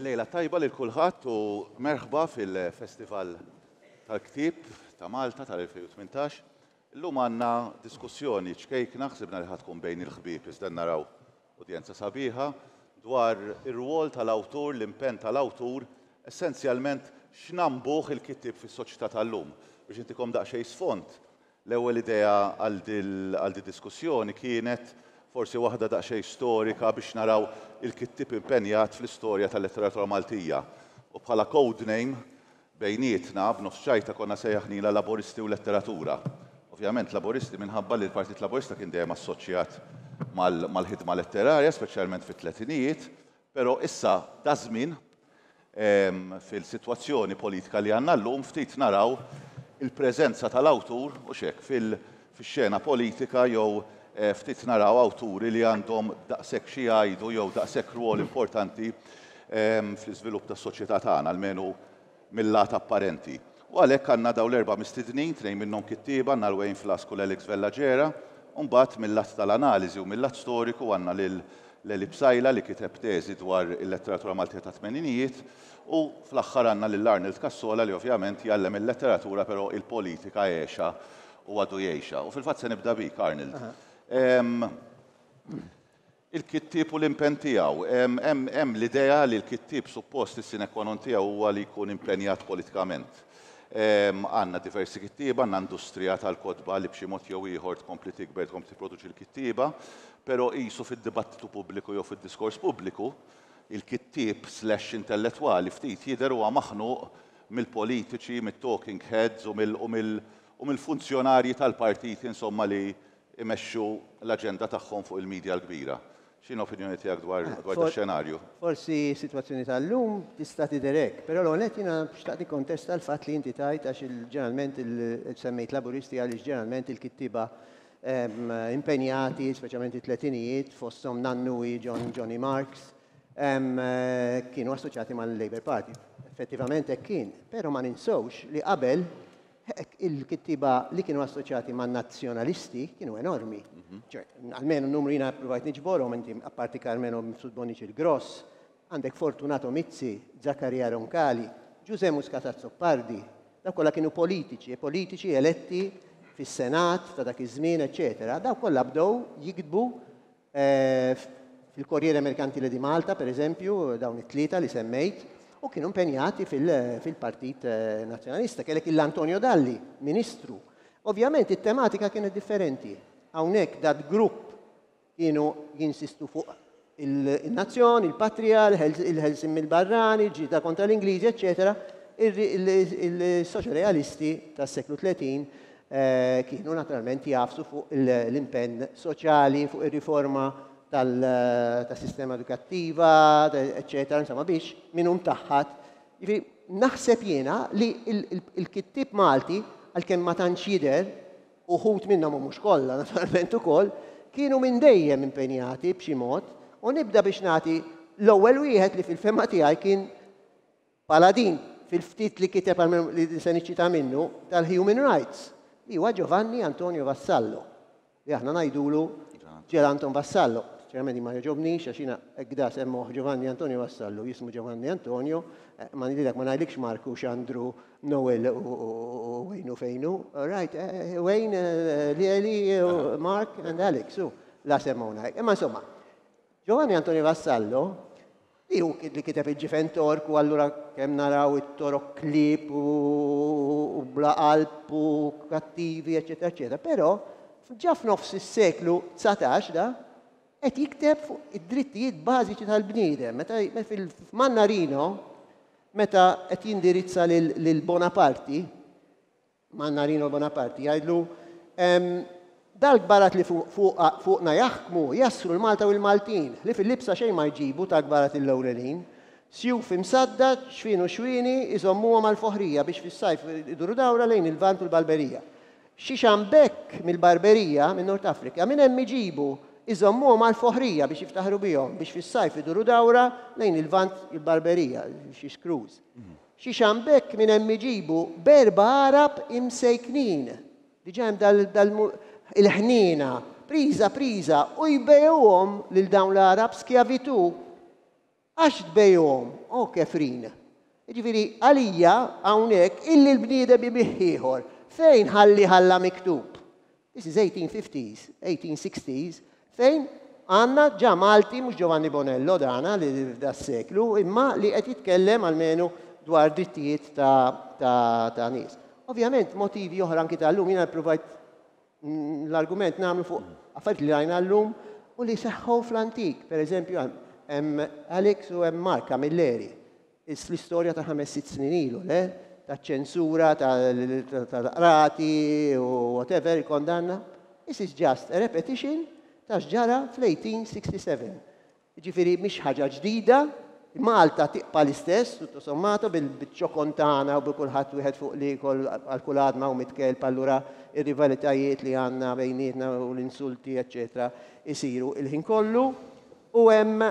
Il-lejla tajba lil kulħadd u merħba fil-Festival tal-Ktieb ta' Malta tal-2018. Illum għandna diskussjoni ċkejkna, ħsibna li ħa tkun bejn il-ħbieb iżda naraw udjenza sabiħa, dwar ir-rwol tal-awtur, l-impenn tal-awtur, essenzjalment x'nambuh il-kittieb fis-soċjetà tal-lum. Biex intikom daqsxejn sfond, l-ewwel idea għal did-diskussjoni kienet forsi waħda daqsxejn storika biex naraw il-kittieb impenjat fl-istorja tal-letteratura Maltija. U bħala code name bejnietna, b'nofs ċajta konna sejjaħnilha Laboristi u Letteratura. Ovvjament Laboristi minħabba li l-Partit Laburista kien dejjem assoċjat mal-ħidma letterarja, speċjalment fit-tletinijiet, però issa daż-żmien, fil-sitwazzjoni politika li għandna llum, ftit naraw il-preżenza tal-awtur, hux hekk, fix-xena politika jew ftit naraw awturi li għandhom daqshekk xi jgħidu jew daqshekk rwol importanti fl-iżvilupp tas-soċjetà tagħna, almenu mil-lat apparenti. U għalhekk għandna dawn l-erba' mistednin, tnejn minnhom kittieba, għandna l-Wayne Flask u l-Alex Vella Gera, u mbagħad mil-lat tal-analiżi u mil-lat storiku għandna lil Leli Psaila li kiteb teżi dwar il-letteratura Maltija tat-tmeninijiet u fl-aħħar għandna lil Arnold Cassola li ovvjament jgħallem il-letteratura però il-politika għexha u għadu jgħixha. U fil-fatt se nibda bik, Arnold. Il-kittieb u l-impenn tiegħu. Hemm l-idea li l-kittieb suppost is-sine qua non tiegħu huwa li jkun impenjat politikament. Għandna diversi kittieba, għandna industrija tal-kotba li b'xi mod jew ieħor tkompli tikber, tkompli tipproduċi l-kittieba, però qisu fid-dibattitu pubbliku jew fid-diskors pubbliku, il-kittieb slash intellettwali ftit jidher huwa maħnuq mill-politiċi, mit-talking heads u mill-funzjonarji tal-partiti insomma li imexxu l-aġenda tagħhom fuq il-media l-kbira. X'inhi l-opinjoni tiegħek dwar dwar dax-xenarju? Forsi s-sitwazzjoni tal-lum tista' tidher hekk, però l-ewwel nett jiena xtaqt nikkontesta l-fatt li inti tgħid għax ġeneralment semmejt Laburisti għaliex ġeneralment il-kittieba impenjati, speċjalment it-tletinijiet, fosthom Nannuwi, John Johnny Marks, kienu assoċjati mal-Labour Party. Effettivament hekk kien, però ma ninsewx li qabel Il-kittieba li kienu assoċjati man-Nazzjonalisti kienu enormi. Ċe, almenu n-numru jiena ppruvajt niġborhom, inti apparti Carmelo Mifsud Bonnici il-Gross, għandek Fortunato Mizzi, Zaccaria Roncali, Ġużè Muscat Azzopardi, dawk kollha kienu politiċi, politiċi eletti fis-Senat ta' dak iż-żmien, eċċetera. Dawk kollha bdew jiktbu Fil-Corriere Mercantile di Malta, per eżempju, dawn it-tlieta li semmejt, u kienu impenjati fil-Partit Nazzjonalista. Kellek il-Antonio Dalli, ministru. Ovvjament it-tematika kienet differenti. Hawnhekk dat grupp kienu jinsistu fuq il-nazzjon, il-patrija, il-ħelsin mill-barrani, il-ġlieda kontra l-Ingliżi, eċċetera. Il-soċjorealisti tas-seklu 30 kienu naturalment jagħfsu fuq l-impenn soċjali, fuq ir-riforma tas-sistema edukattiva, eċċetera, insomma biex min hu mtaħħad. Jiġifieri naħseb jiena li l-kittieb Malti, għalkemm ma tantx jidher, uħud minnhom u mhux kollha naturalment ukoll, kienu minn dejjem impenjati b'xi mod, u nibda biex nagħti l-ewwel wieħed li fil-fehma tiegħi kien Paladin, fil-ftit li kiteb almenu li se niċċita minnu, tal-Human Rights, li huwa Giovanni Antonio Vassallo, li aħna ngħidulu Ġer Anton Vassallo. Sinċerament ma jogħġobnix għax jiena hekk da semmuh Giovanni Antonio Vassallo, jismu Giovanni Antonio, eh, ma nidilek ma ngħidlikx Marku, Xandru, Noel u Wayne u fejnu. All right, eh, Wayne, eh, Lieli, Mark and Alex, u la semmuna. Imma insomma, Giovanni Antonio Vassallo, li hu li kiteb il-ġifen Tork u allura kemm naraw it-torok klieb u bla qalb u kattivi, eċċetera, eċċetera. Però ġa f'nofs is-seklu 19 da qed jikteb fuq id-drittijiet bażiċi tal-bniedem. Meta fil-Mannarino, meta qed jindirizza lil Bonaparti, Mannarino Bonaparte jgħidlu, Dal-kbarat li fuqna jaħkmu jassru l-Malta u l-Maltin, ħlief il-libsa xejn ma jġibu tal-kbarat il-ewlenin. Sjuf imsadda, xfien u xwieni iżommuhom għall-foħrija biex fis-sajf iduru dawra lejn il-Lvant u l-Barberija. Xi xambekk mill-Barberija, minn North Africa, minn hemm iġibu, iżommuhom għall-foħrija biex jiftaħru bihom, biex fis-sajf iduru dawra lejn il-Lvant u l-Barberija, xi screws. Xi xambekk minn hemm iġibu b'erba' għarab imsejknin. Diġà hemm dal, dal, il-ħniena, priża priża, u jbejgħuhom lil dawn l-Għarab skjavitù. Għax tbejhom, o kefrin. Jiġifieri għalija hawnhekk illi l-bniedem ibigħ ieħor, fejn ħalli ħalla miktub? This is 1850s, 1860s, fejn għandna ġa Malti, mhux Giovanni Bonello dana li f'das-seklu, imma li qed jitkellem almenu dwar drittijiet ta' ta' ta' nies. Ovvjament motivi oħra anki tal-lum jiena ppruvajt l-argument nagħmlu fuq affarijiet li rajna llum u li seħħu fl-antik. Per eżempju, hemm Alex u hemm Mark Camilleri. L-istorja ta' 5-6 snin ilu, le? Ta' ċensura, tal-qrati u whatever, il-kondanna. This is just a repetition ta' x'ġara fl-1867. Jiġifieri mhix ħaġa ġdida, Malta tibqa' l-istess, tutto sommato, bil-ċokon tagħna u bi kulħadd wieħed fuq l-ieħor għal kull għadma u mitt kelb, allura r-rivalitajiet li għandna bejnietna u l-insulti eċċetera isiru il-ħin kollu. U hemm,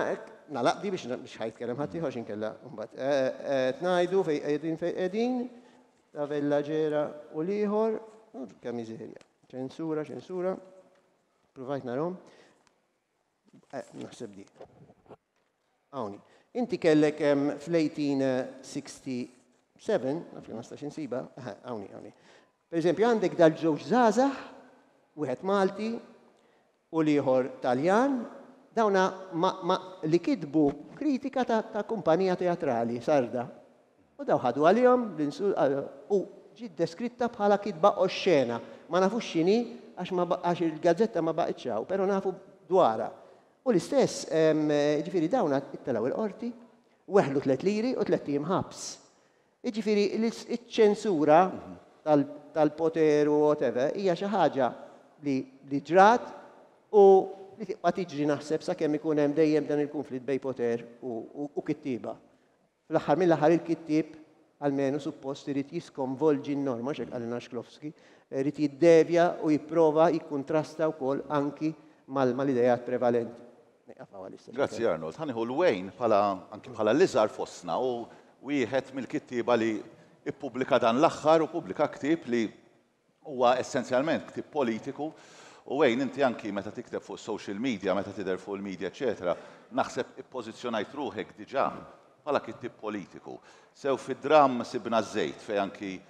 nagħlaq di biex biex ħa jitkellem ħaddieħor għax inkella mbagħad qed ngħidu fejn qegħdin fejn qegħdin, ta' Vella Ġera u l-ieħor, kemm miżerja. Ċensura, ċensura, provajt narhom. Naħseb di. Hawn. Inti kellek fl-1867, naf li ma stax insiba, hawn, hawn. Per eżempju, għandek dal-ġewġ żgħażagħ, wieħed Malti u l-ieħor Taljan, dawna ma, ma, li kitbu kritika ta', ta kumpanija teatrali sarda. U daw ħadu għalihom u ġiet deskritta bħala kitba oxxena. Ma nafux x'inhi għax ma għax il-gazzetta ma baqgħetx hawn, però nafu dwarha. U l-istess, jiġifieri dawn ittelgħu il-qorti, weħlu tlett liri u tlett ijiem ħabs. Jiġifieri iċ-ċensura tal-poter u whatever hija xi ħaġa li ġrat u li tibqa' tiġri naħseb sakemm ikun hemm dejjem dan il-kunflitt bejn poter u kittieba. Fl-aħħar mill-aħħar il-kittieb almenu suppost irid jiskonvolġi n-norma, x'hekk qalilna Shklovsky, irid jiddevja u jipprova jikkuntrasta wkoll anki mal-ideat prevalenti. Nieqaf hawn għalissa. Grazzi Arnold. Ħa nieħu 'l Wayne bħala anki bħala l-iżgħar fostna u wieħed mill-kittieba li ppubblika dan l-aħħar u ppubblika ktieb li Huwa essenzjalment ktieb politiku u Wayne inti anki meta tikteb fuq is-social media, meta tidher fuq il-media eċċetera, naħseb ippożizzjonajt ruħek diġà bħala kittieb politiku. Sew fid-dramm Sibna ż-Żejt fejn anki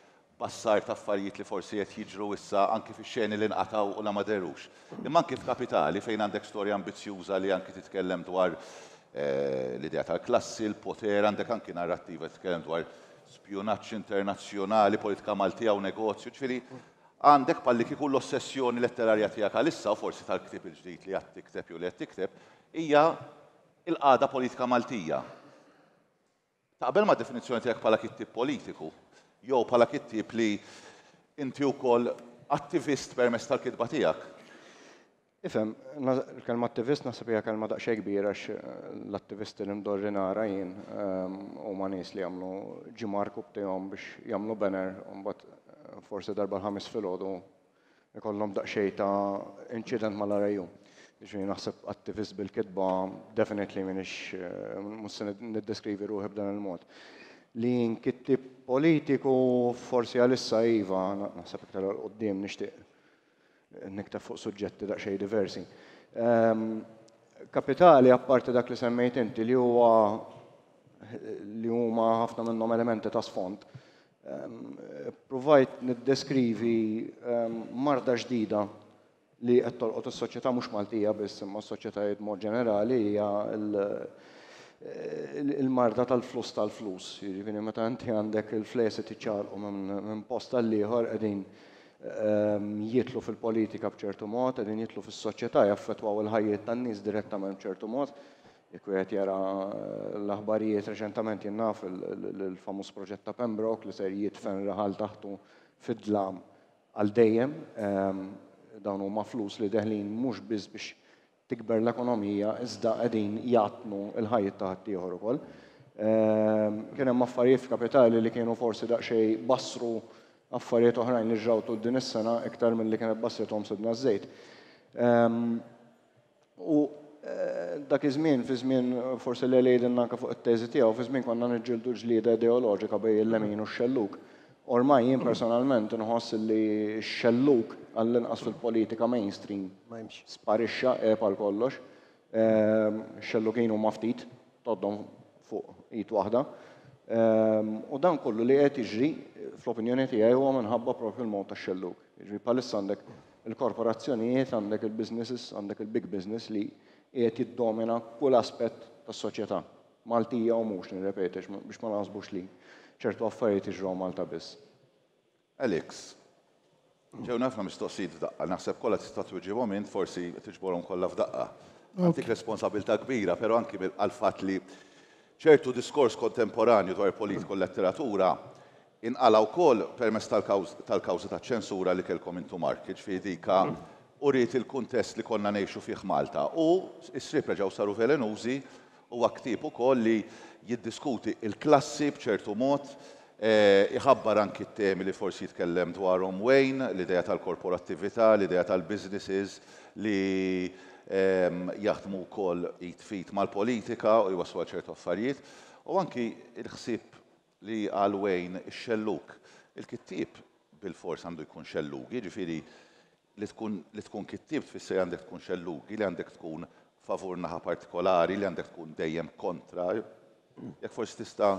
bassart affarijiet li forsi qed jiġru issa anki fix-xeni li nqatgħu u la ma dherux. Imma anki f'Kapitali fejn għandek storja ambizzjuża li anki titkellem dwar l-idea tal-klassi, l-poter, għandek anki narrattiva li titkellem dwar spjunaġġ internazzjonali, politika Maltija u negozju, ġifieri għandek bħallikieku l-ossessjoni letterarja tiegħek għalissa u forsi tal-ktieb il-ġdid li għad tikteb jew li qed tikteb hija l-qagħda politika Maltija. Taqbel mad-definizzjoni tiegħek bħala kittieb politiku jew bħala kittieb li inti wkoll attivist permezz tal-kitba tiegħek? Ifhem, il-kelma attivist naħseb hija kelma daqsxejn kbira għax l-attivisti li mdorri nara jien huma nies li jagħmlu ġimgħa rkubtihom biex jagħmlu banner u mbagħad forsi darba l-Ħamis filgħodu ikollhom daqsxejn ta' inċident mal-RIU. Jiġifieri naħseb attivist bil-kitba definitely m'iniex mhux se niddeskrivi ruħi b'dan il-mod. Li jien kittieb politiku forsi għalissa iva, naħseb iktar 'l quddiem nixtieq nikteb fuq suġġetti daqsxejn diversi. Kapitali, apparti dak li semmejt inti, li huwa li huma ħafna minnhom elementi ta' sfond, provajt niddeskrivi marda ġdida li qed tolqot is-soċjetà mhux Maltija biss imma s-soċjetajiet mod ġenerali hija il-marda tal-flus tal-flus. Jiġifieri meta inti għandek il-flejjes qed jiċċaqalqu minn post għal ieħor qegħdin jidħlu fil-politika b'ċertu mod, qegħdin jidħlu fis-soċjetà, jaffettwaw il-ħajjiet tan-nies direttament b'ċertu mod. Jekk wieħed jara l-aħbarijiet reċentament jien naf il-famuż proġett ta' Pembroke li ser jidfen raħal taħtu fid-dlam għal dejjem. Dawn huma flus li deħlin mhux biss biex tikber l-ekonomija iżda qegħdin jgħattnu l-ħajjiet ta' ħaddieħor ukoll. Kien hemm affarijiet f'Kapitali li kienu forsi daqsxejn bassru affarijiet oħrajn li ġraw tul din is-sena iktar milli kienet bassrithom Sidna ż-Żejt. U dak iż-żmien, fi żmien forsi Lele jgħidilna anke fuq it-teżi tiegħu, fi żmien konna niġġieldu ġlieda ideoloġika bejn il-lemin u x-xellug. Ormai jien personalment inħoss li x-xellug, għall-inqas fil-politika mainstream, sparixxa, għeb għal kollox. Ix-xellugin huma ftit, tgħoddhom fuq id waħda. U dan kollu li qed jiġri, fl-opinjoni tiegħi, huwa minħabba propju l-mod tax-xellug. Jiġifieri bħalissa għandek il-korporazzjonijiet, għandek il-businesses, għandek il-big business li qiegħed jiddomina kull aspett tas-soċjetà. Maltija u mhux, nirrepeti, biex ma naħsbux li ċertu affarijiet jiġru Malta biss. Alex, ġewna ħafna mistoqsijiet f'daqqa, naħseb kollha tista' twiġibhom int, forsi tiġborhom kollha f'daqqa. Għandik responsabilità kbira, però anki għall-fatt li ċertu diskors kontemporanju dwar il-politika u l-letteratura inqala' wkoll permezz tal-kawża taċ-ċensura li kellkom intu Mark, jiġifieri dika uriet il-kuntest li konna ngħixu fih Malta u s-sriep reġgħu saru velenużi. Huwa ktieb ukoll li jiddiskuti l-klassi b'ċertu mod, iħabbar anki t-temi li forsi jitkellem dwarhom Wayne, l-idea tal-korporattività, l-idea tal-businesses li jaħdmu wkoll id f'id mal-politika u jwasslu għal ċertu affarijiet, u anki l-ħsieb li qal Wayne ix-xellug. Il-kittieb bilfors għandu jkun xellugi, jiġifieri li tkun li tkun kittieb tfisser li għandek tkun xellugi, li għandek tkun favur naħa partikolari, li għandek tkun dejjem kontra. Jekk forsi tista'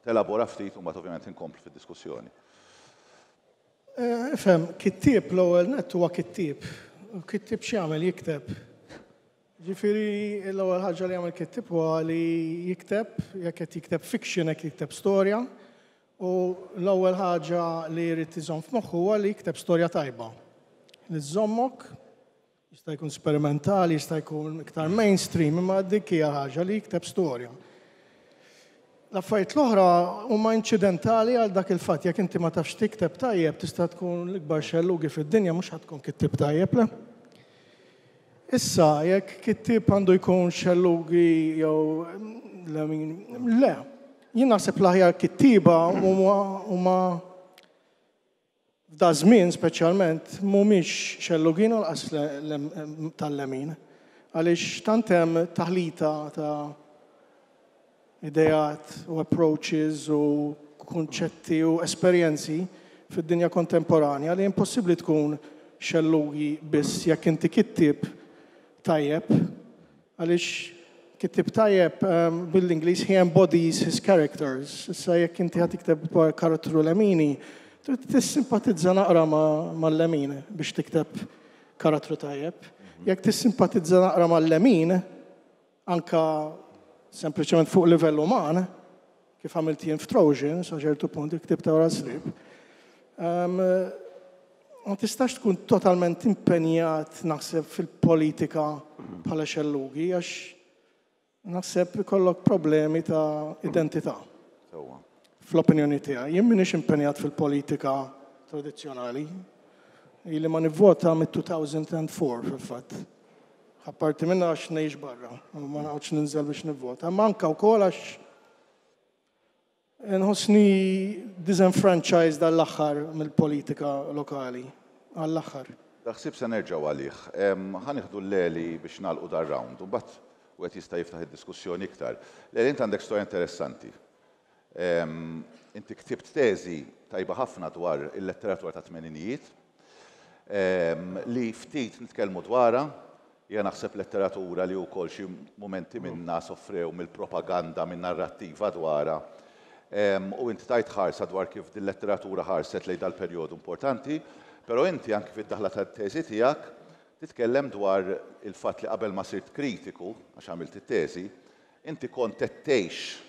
telabora ftit u mbagħad ovvjament inkomplu fid-diskussjoni. Ifhem, kittieb l-ewwel nett huwa kittieb. U kittieb x'jagħmel? Jikteb. Ġifieri l-ewwel ħaġa li jagħmel kittieb huwa li jikteb, jekk qed jikteb fiction, jekk jikteb storja, u l-ewwel ħaġa li jrid iżomm f'moħħu huwa li jikteb storja tajba. Li żżommok, jista' jkun sperimentali, jista' jkun iktar mainstream, imma dik hija ħaġa li jikteb storja. L-affarijiet l-oħra huma inċidentali għal dak il-fatt. Jekk inti ma tafx tikteb tajjeb, tista' tkun l-ikbar xellugi fid-dinja, mhux ħa tkun kittieb tajjeb, le? Issa, jekk kittieb għandu jkun xellugi jew lemin, le. Jien naħseb l-aħjar kittieba huma F'da żmien speċjalment mhumiex xellugin u lanqas tal-lemin. Għaliex tant hemm taħlita ta' ideat u approaches u kunċetti u esperjenzi fid-dinja kontemporanja li impossibbli tkun xellugi biss jekk inti kittieb tajjeb. Għaliex kittieb tajjeb bil-Ingliż he embodies his characters. Issa jekk inti ħa tikteb dwar karattru lemini, trid tissimpatizza naqra mal-lemin biex tikteb karattru tajjeb. Jekk tissimpatizza naqra mal-lemin, anka sempliċement fuq livell uman, kif għamilt jien f'Trojan, sa ċertu punt, il-ktieb ta' wara s-sriep, ma tistax tkun totalment impenjat naħseb fil-politika bħala xellugi, għax naħseb ikollok problemi ta' identità. Fl-opinjoni tiegħi. Jien m'iniex impenjat fil-politika tradizzjonali. Ili ma nivvota mit-2004 fil-fatt. Apparti minna għax ngħix barra, ma noqgħodx ninżel biex nivvota. Ma anka wkoll għax nħossni disenfranchised għall-aħħar mill-politika lokali. Għall-aħħar. Dal-ħsieb se nerġgħu għalih. Ħa nieħdu l-Leli biex nagħlqu dar-round u mbagħad wieħed jista' jiftaħ id-diskussjoni iktar. Leli, int għandek storja interessanti. Inti ktibt teżi tajba ħafna dwar il-letteratura tat-tmeninijiet li ftit nitkellmu dwarha. Hija naħseb letteratura li wkoll xi mumenti minnha soffrew mill-propaganda, min-narrattiva dwarha. U inti tajt ħarsa dwar kif dil-letteratura ħarset lejn dal-perjodu importanti, però inti anki fid-daħla tat-teżi tiegħek titkellem dwar il-fatt li qabel ma sirt kritiku, għax għamilt it-teżi, inti kont qed tgħix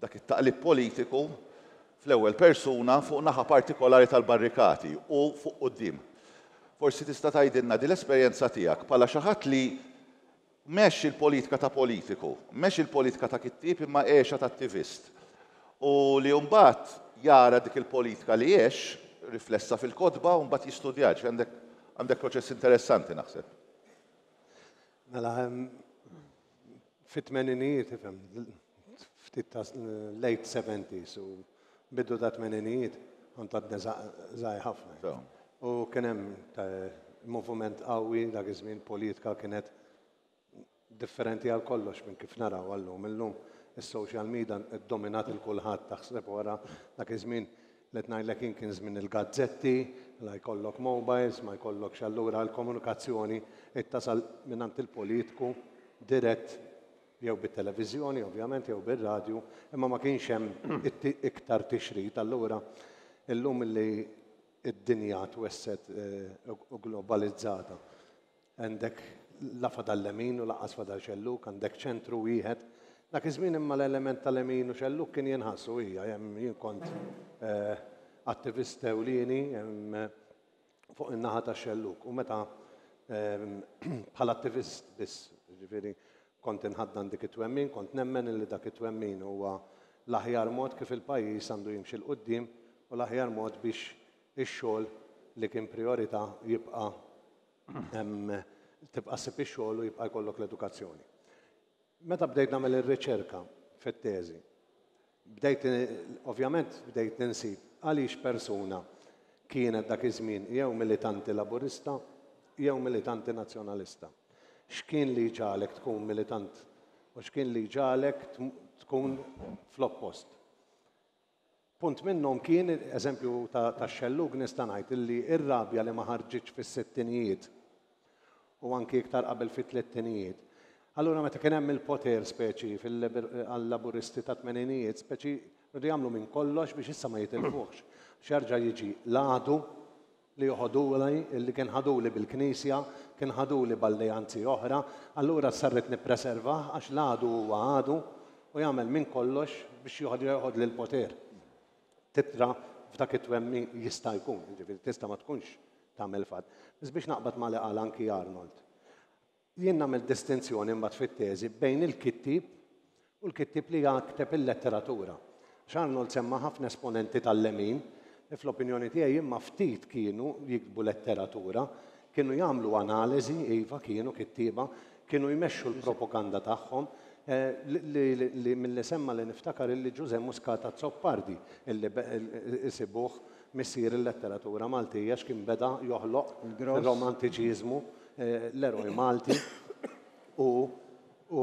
dak it-taqlib politiku fl-ewwel persuna fuq naħa partikolari tal-barrikati u fuq quddiem. Forsi tista' tgħidilna din l-esperjenza tiegħek bħala xi ħadd li m'għex il-politika ta' politiku, m'għex il-politika ta' kittieb imma għexha ta' attivist u li mbagħad jara dik il-politika li għex riflessa fil-kotba u mbagħad jistudjaha. Ġifieri għandek għandek proċess interessanti naħseb. Mela, Fit-tmeninijiet, ifhem, ftit ta' late 70s u bidu ta' tmeninijiet, kont għadni żgħir ħafna. U kien hemm moviment qawwi dak iż-żmien, politika kienet differenti għal kollox minn kif narawha llum. Illum is-social media ddominat il kulħadd, taħseb wara dak iż-żmien li qed ngħidlek jien kien żmien il-gazzetti, la jkollok mobiles, ma jkollokx allura l-komunikazzjoni tasal mingħand il-politiku dirett. Jew bit-televiżjoni, ovvjament, jew bir-radju, imma ma kienx hemm iktar tixrid. Allura, illum li d-dinja twessgħet u globalizzata, għandek la fadal lemin u lanqas fadal xellug, għandek ċentru wieħed. Dak iż-żmien imma l-element ta' lemin u xellug kien jinħass u hija, jien kont attivist ewlieni fuq in-naħa tax-xellug u meta bħala attivist biss, jiġifieri kont inħaddan dik it-twemmin, kont nemmen illi dak it-twemmin huwa l-aħjar mod kif il-pajjiż għandu jimxi 'l quddiem u l-aħjar mod biex ix-xogħol li kien prijorità jibqa' tibqa' ssib ix-xogħol u jibqa' jkollok l-edukazzjoni. Meta bdejt nagħmel ir-riċerka fit-teżi, bdejt ovvjament bdejt ninsib għaliex persuna kienet dak iż-żmien jew militanti Laburista jew militanti Nazzjonalista. X'kien li jġagħlek tkun militant u x'kien li jġagħlek tkun fl-oppost. Punt minnhom kien, eżempju tax-xellug nista' ngħid illi r-rabja li ma ħarġitx fis-sittinijiet u anki iktar qabel fit-tlettinijiet. Allura meta kien hemm il-poter speċi għal-Laburisti tat-tmeninijiet speċi riedu jagħmlu minn kollox biex issa ma jitilfuhx. Għax jerġa' jiġi l-għadu li joħoduli, li kien ħaduli bil-Knisja, kien ħaduli b'alleanzi oħra, allura issa rrid nippreservah għax l-għadu huwa għadu u jagħmel minn kollox biex joħodli l-poter. Titra f'dak it-twemmin jista' jkun, jiġifieri tista' ma tkunx tagħmel fatt. Biss biex naqbad ma' li qal anki Arnold. Jien nagħmel distinzjoni imbagħad fit-teżi bejn il-kittieb u l-kittieb li jakteb il-letteratura. Għax Arnold semma ħafna esponenti tal-lemin li fl-opinjoni tiegħi imma ftit kienu jiktbu letteratura, kienu jagħmlu analiżi, iva kienu kittieba, kienu jmexxu l-propaganda tagħhom, li milli semma li niftakar illi Ġużè Muscat Azzopardi illi isibuh missier il-letteratura Maltija x'kien beda joħloq ir-romantiċiżmu l-eroj Malti u u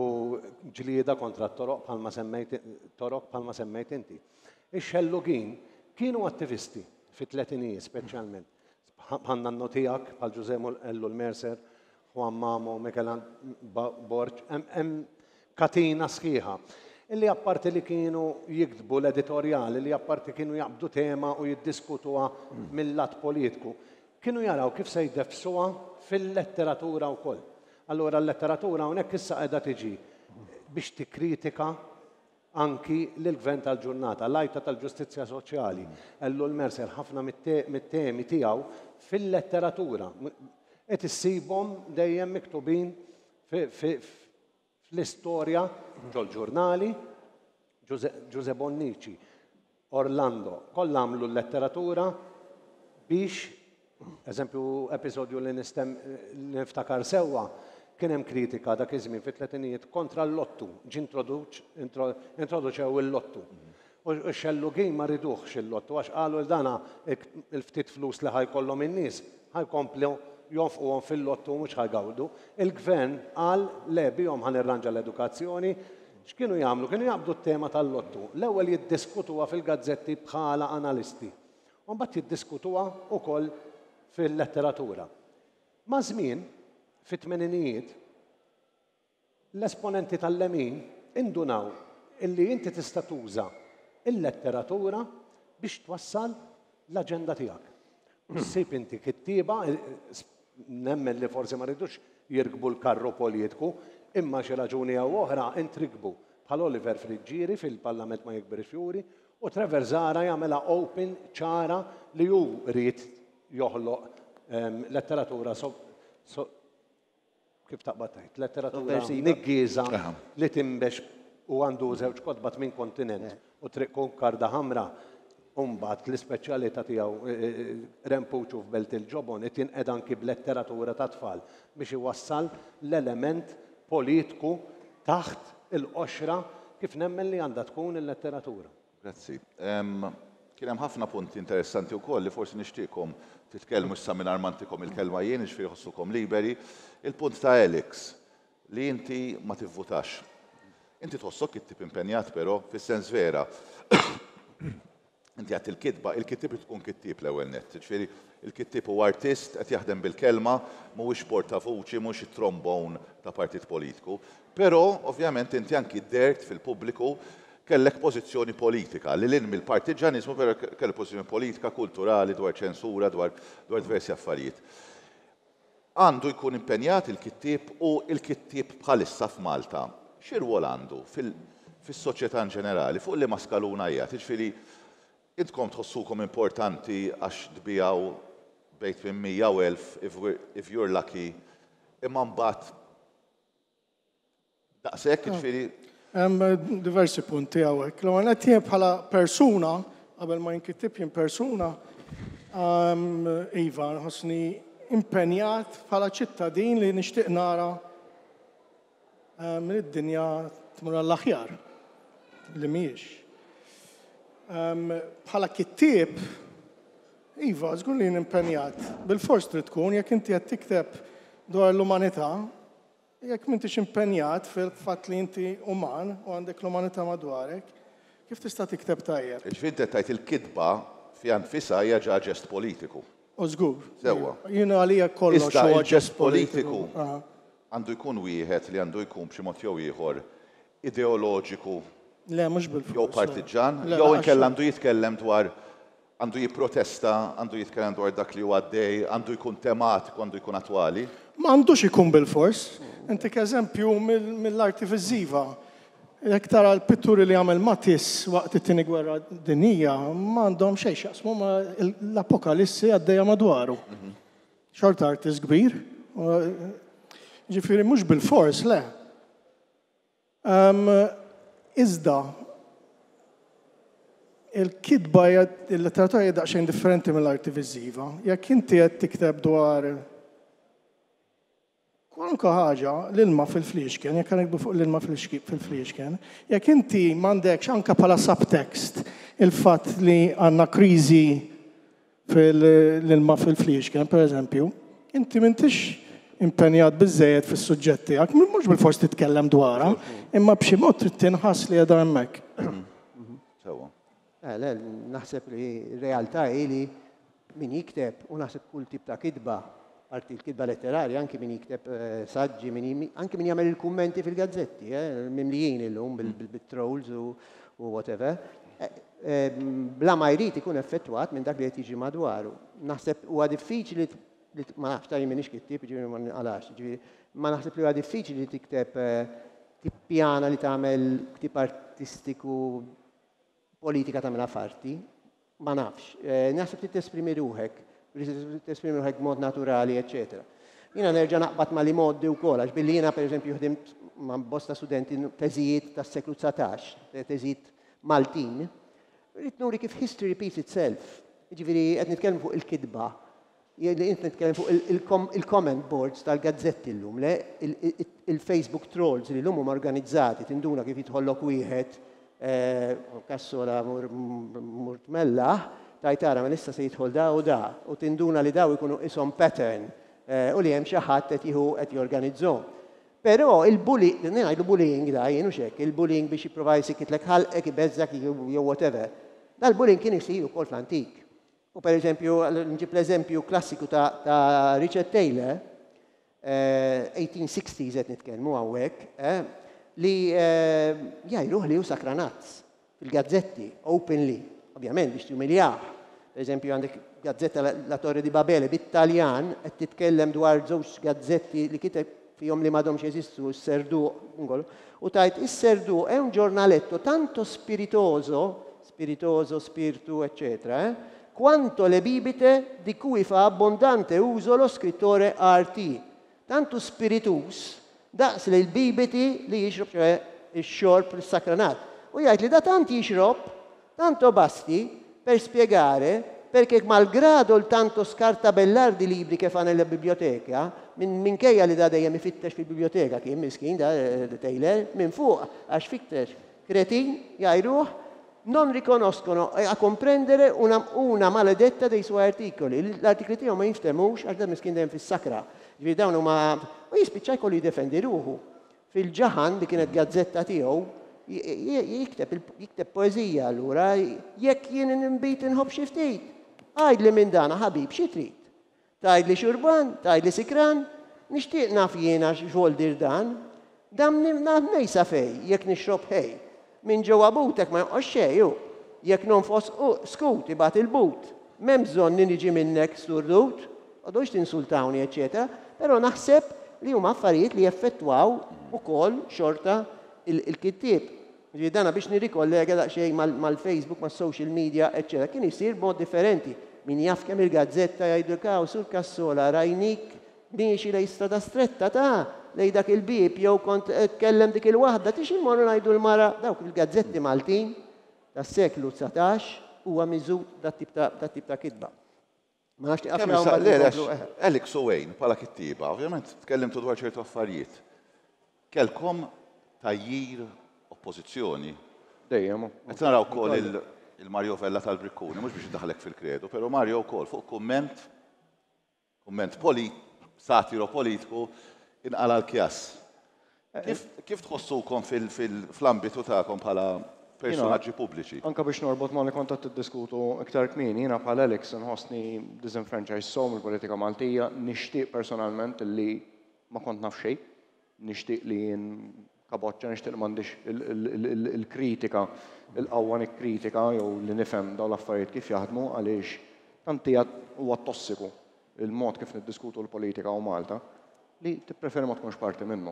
ġlieda kontra t-toroq bħalma semmejt torok bħalma semmejt inti. Ix-xellugin kienu attivisti fit-tletinijiet speċjalment. Bħal nannu tiegħek, bħal Ġużè Ellul Mercer, Juan Mamo, Michel Borg, hemm katina sħiħa. Illi apparti li kienu jiktbu l-editorjali, li apparti kienu jaqbdu tema u jiddiskutuha mill-lat politiku, Kienu jaraw kif se jdeffsuha fil-letteratura wkoll. Allura l-letteratura hawnhekk issa qiegħda tiġi biex tikkritika anki lill-gvern tal-ġurnata, l-għajta tal-ġustizzja soċjali. Ellul Mercer ħafna mit-temi tiegħu fil-letteratura qed issibhom dejjem miktubin Fl-istorja, ġol-ġurnali, Ġużè Bonnici, Orlando, kollha għamlu l-letteratura biex, eżempju, episodju li niftakar sewwa, kien hemm kritika dak iż-żmien fit-tletinijiet kontra l-lottu, ġie introduċew il-lottu. U x-xellugin ma riduhx il-lottu għax qalu li dana il-ftit flus li ħa jkollhom in-nies ħa jkomplu jonfquhom fil-lottu u mhux ħa jgawdu. Il-Gvern qal le bihom ħa nirranġa l-edukazzjoni. X'kienu jagħmlu? Kienu jaqbdu t-tema tal-lottu. L-ewwel jiddiskutuha fil-gazzetti bħala analisti u mbagħad jiddiskutuha wkoll fil-letteratura. Maż-żmien, fit-tmeninijiet, L-esponenti tal-lemin indunaw illi inti tista' tuża l-letteratura biex twassal l-aġenda tiegħek. U ssib inti kittieba, nemmen li forsi ma ridux jirkbu l-karru politiku, imma xi raġuni jew oħra intrikbu, bħal Oliver Friggieri fil-Parlament ma jikbirx fjuri, u Trevor Zahra jagħmilha open ċara li hu ried joħloq letteratura kif taqbad tgħid, letteratura niggieża li tinbex u għandu żewġ kotba tmien kontinent u Triq Kunkarda Ħamra u mbagħad l-ispeċjalità tiegħu Rempuċu f'Belt il-Ġobon qed jinqeda anki b'letteratura tat-tfal biex iwassal l-element politku taħt il-qoxra kif nemmen li għandha tkun il-letteratura. Grazzi. Kien hemm ħafna punti interessanti wkoll li forsi nixtieqkom titkellmu issa mingħajr ma ntikom il-kelma jien, jiġifieri ħossukom liberi. Il-punt ta' Alex, li inti ma tivvutax. Inti tħossok it-tip impenjat però, fis-sens vera. Inti għedt il-kitba, il-kittieb irid ikun kittieb l-ewwel nett. Jiġifieri il-kittieb huwa artist qed jaħdem bil-kelma, mhuwiex portavuċi, mhuwiex it-trombone ta' partit politiku. Però, ovvjament, inti anki dehrt fil-pubbliku kellek pożizzjoni politika, lil hinn mill-partiġġaniżmu, però kellek pożizzjoni politika, kulturali, dwar ċensura, dwar dwar diversi affarijiet. Għandu jkun impenjat il-kittieb u l-kittieb bħalissa f'Malta xi rwol għandu fis-soċjetà in ġenerali, fuq liema skaluna qiegħed? Jiġifieri intkom tħossukom importanti għax tbigħu bejn 800 u 1000 if you're lucky, imma mbagħad Daqshekk, jiġifieri. Hemm diversi punti hawnhekk. L-ewwel nett jien bħala persuna, qabel ma jien kittieb jien persuna, iva, nħossni impenjat bħala ċittadin li nixtieq nara li d-dinja tmur għall-aħjar, li mhijiex. Bħala kittieb, iva, żgur li jien impenjat. Bilfors trid tkun, jekk inti qed tikteb dwar l-umanità, Jekk m'intix impenjat fil-fatt li inti uman u għandek l-umanità madwarek, kif tista' tikteb tajjeb? Jiġifieri inti qed tgħid il-kitba fiha nfisha hija ġa ġest politiku. U żgur. Sewwa. Jien għalija kollox huwa ġest politiku. Għandu jkun wieħed li għandu jkun b'xi mod jew ieħor ideoloġiku. Le, mhux bilfors. Jew partiġġan, jew inkella għandu jitkellem dwar Għandu jipprotesta, għandu jitkellem dwar dak li hu għaddej, għandu jkun tematiku, għandu jkun attwali. Ma għandux ikun bilfors. Intik eżempju mill-arti viżiva. Jekk tara l-pitturi li għamel Matisse waqt it-Tieni Gwerra Dinjija, ma għandhom xejn x'jaqsmu ma' l-apokalissi għaddejja madwaru. Xorta artist kbir. Ġifieri mhux bilfors, le. Iżda, il-kitba hija, il-letteratura hija daqsxejn differenti mill-arti viżiva. Jekk inti qed tikteb dwar kwalunkwe ħaġa, l-ilma fil-fliexken, jekk niktbu fuq l-ilma fil-fliexken, jekk inti m'għandekx anke bħala subtext il-fatt li għandna kriżi fil-ilma fil-fliexken, per eżempju, inti m'intix impenjat biżżejjed fis-suġġett tiegħek, mhux bilfors titkellem dwarha, imma b'xi mod trid tinħass li qiegħda hemmhekk. Sewwa. Eh, le, naħseb li r-realtà hi li min jikteb, u naħseb kull tip ta' kitba, parti l-kitba letterarja, anki min jikteb eh, saġġi, min, anki min jagħmel il-kummenti fil-gazzetti, eh, mimlijin illum bil-trolls u whatever, bla ma jrid ikun effettwat minn dak li qed jiġi madwaru. Naħseb huwa diffiċli li ma nafx ta' jien m'iniex kittieb, jiġifieri ma ninqalax, jiġifieri ma naħseb li huwa diffiċli li tikteb tippjana li tagħmel ktieb artistiku politika tagħmilha f'arti. Ma nafx. Naħseb trid tesprimi ruħek, trid tesprimi ruħek b'mod naturali, eċċetera. Jiena nerġa' naqbad ma' li mgħoddi wkoll, għax billi jiena pereżempju ħdimt ma' bosta studenti teżijiet tas-seklu 19, teżijiet Maltin, rrid nuri kif history repeats itself. Jiġifieri qed nitkellmu fuq il-kitba, li int nitkellem fuq il-comment boards tal-gazzetti llum, le il-Facebook trolls li llum huma organizzati, tinduna kif jidħollok wieħed eh, kassola mur tmellaħ, tajt ara ma issa se jidħol da u da, u tinduna li daw ikunu ishom pattern eh, u li hemm xi ħadd qed jieħu qed jorganizzhom. Però il-bully, ngħidu bullying da jien hux hekk, il-bullying biex jipprova jsikitlek ħalqek, ibeżżak jew whatever. Dal-bullying kien isir ukoll fl-antik. U per eżempju, nġib l-eżempju klassiku ta', ta Richard Taylor, eh, 1860s qed nitkellmu hawnhekk, eh, li eh, jgħiruh li hu sakranazz fil-gazzetti, openly, ovvjament biex tumiljah. Per eżempju, għandek gazzetta La Torre di Babele bit-Taljan qed titkellem dwar żewġ gazzetti li kiteb fihom li m'għadhomx jeżistu, s-Serduq, u tajt is-Serduq è un giornaletto tanto spiritoso spiritoso, spirtu, eccetera, eh? quanto le bibite di cui fa abbondante uso lo scrittore R.T. Tantu spiritus daqs li l-bibiti li jixrob, ċoħe ix-xorb l-sakranat. U jgħid li da tant jixrob, tanto basti per spiegare perché malgrado il tanto scartabellar di libri che fa nella biblioteca, minn minkejja li da dejjem ifittex fil-biblioteka kien miskin da eh, Taylor, minn fuq għax fittex Kretin, jgħajruh, non riconoscono a comprendere una, una maledetta dei suoi articoli. L-artikli tiegħu ma jinftemux għax dan miskin dejjem fis-sakra. Ġifieri dawn huma u jispiċċa jkollu jiddefendi ruħu. Fil-Ġaħan li kienet gazzetta tiegħu, Jikteb jikteb poeżija allura, jekk jien inbid inħobb xi ftit. Għidli minn dana ħabib xi trid. Tgħidli xurban, tgħidli sikran, nixtieq naf jiena x'voldir dan. Dan naf mnejn sa fejn, jekk nixrob ħej. Minn ġewwa butek ma jonqos xejn, u jekk nonfos skut ibgħat il-but. M'hemm bżonn li niġi minnek sturdut, toqgħodux tinsultawni eċċetera, però naħseb li huma affarijiet li jeffettwaw ukoll xorta il-kittieb. Jiġifieri dana biex nirrikollega daqsxejn mal-Facebook, mas-social media, eċċetera, kien isir b'mod differenti. Min jaf kemm il-gazzetta jgħidlek hawn Sur Cassola rajnik miexi lejn Strada Stretta ta' lejn dak il-bieb jew kont qed tkellem dik il-waħda tix immorru ngħidu l-mara dawk il-gazzetti Maltin tas-seklu 19 huwa miżgħud dat-tip ta' dat-tip ta' kitba. Ma nafx Kemm issa le Alex u Wayne bħala kittieba, ovvjament tkellimtu dwar ċertu affarijiet. Kellkom tgħajjir, oppożizzjoni. Dejjem. Qed nara wkoll il-Mario Vella tal-Brikkuni, mhux biex indaħħlek fil-kredu, però Mario wkoll fuq kumment Kumment polit, satiro politiku, inqala' l-kjass. Kif, kif tħossukom fl-ambitu tagħkom bħala personaġġi pubbliċi? Anke biex norbot ma' li kont qed tiddiskutu iktar kmieni, jiena bħal Alex inħossni disenfranchised sew mill-politika Maltija, nixtieq personalment li ma kont naf xejn, nixtieq li jien kaboċċa, nixtieq li m'għandix il-kritika, il-qawwa nikkritika jew li nifhem dawn l-affarijiet kif jaħdmu għaliex tant hija huwa tossiku il-mod kif niddiskutu l-politika hawn Malta li tippreferi ma tkunx parti minnu.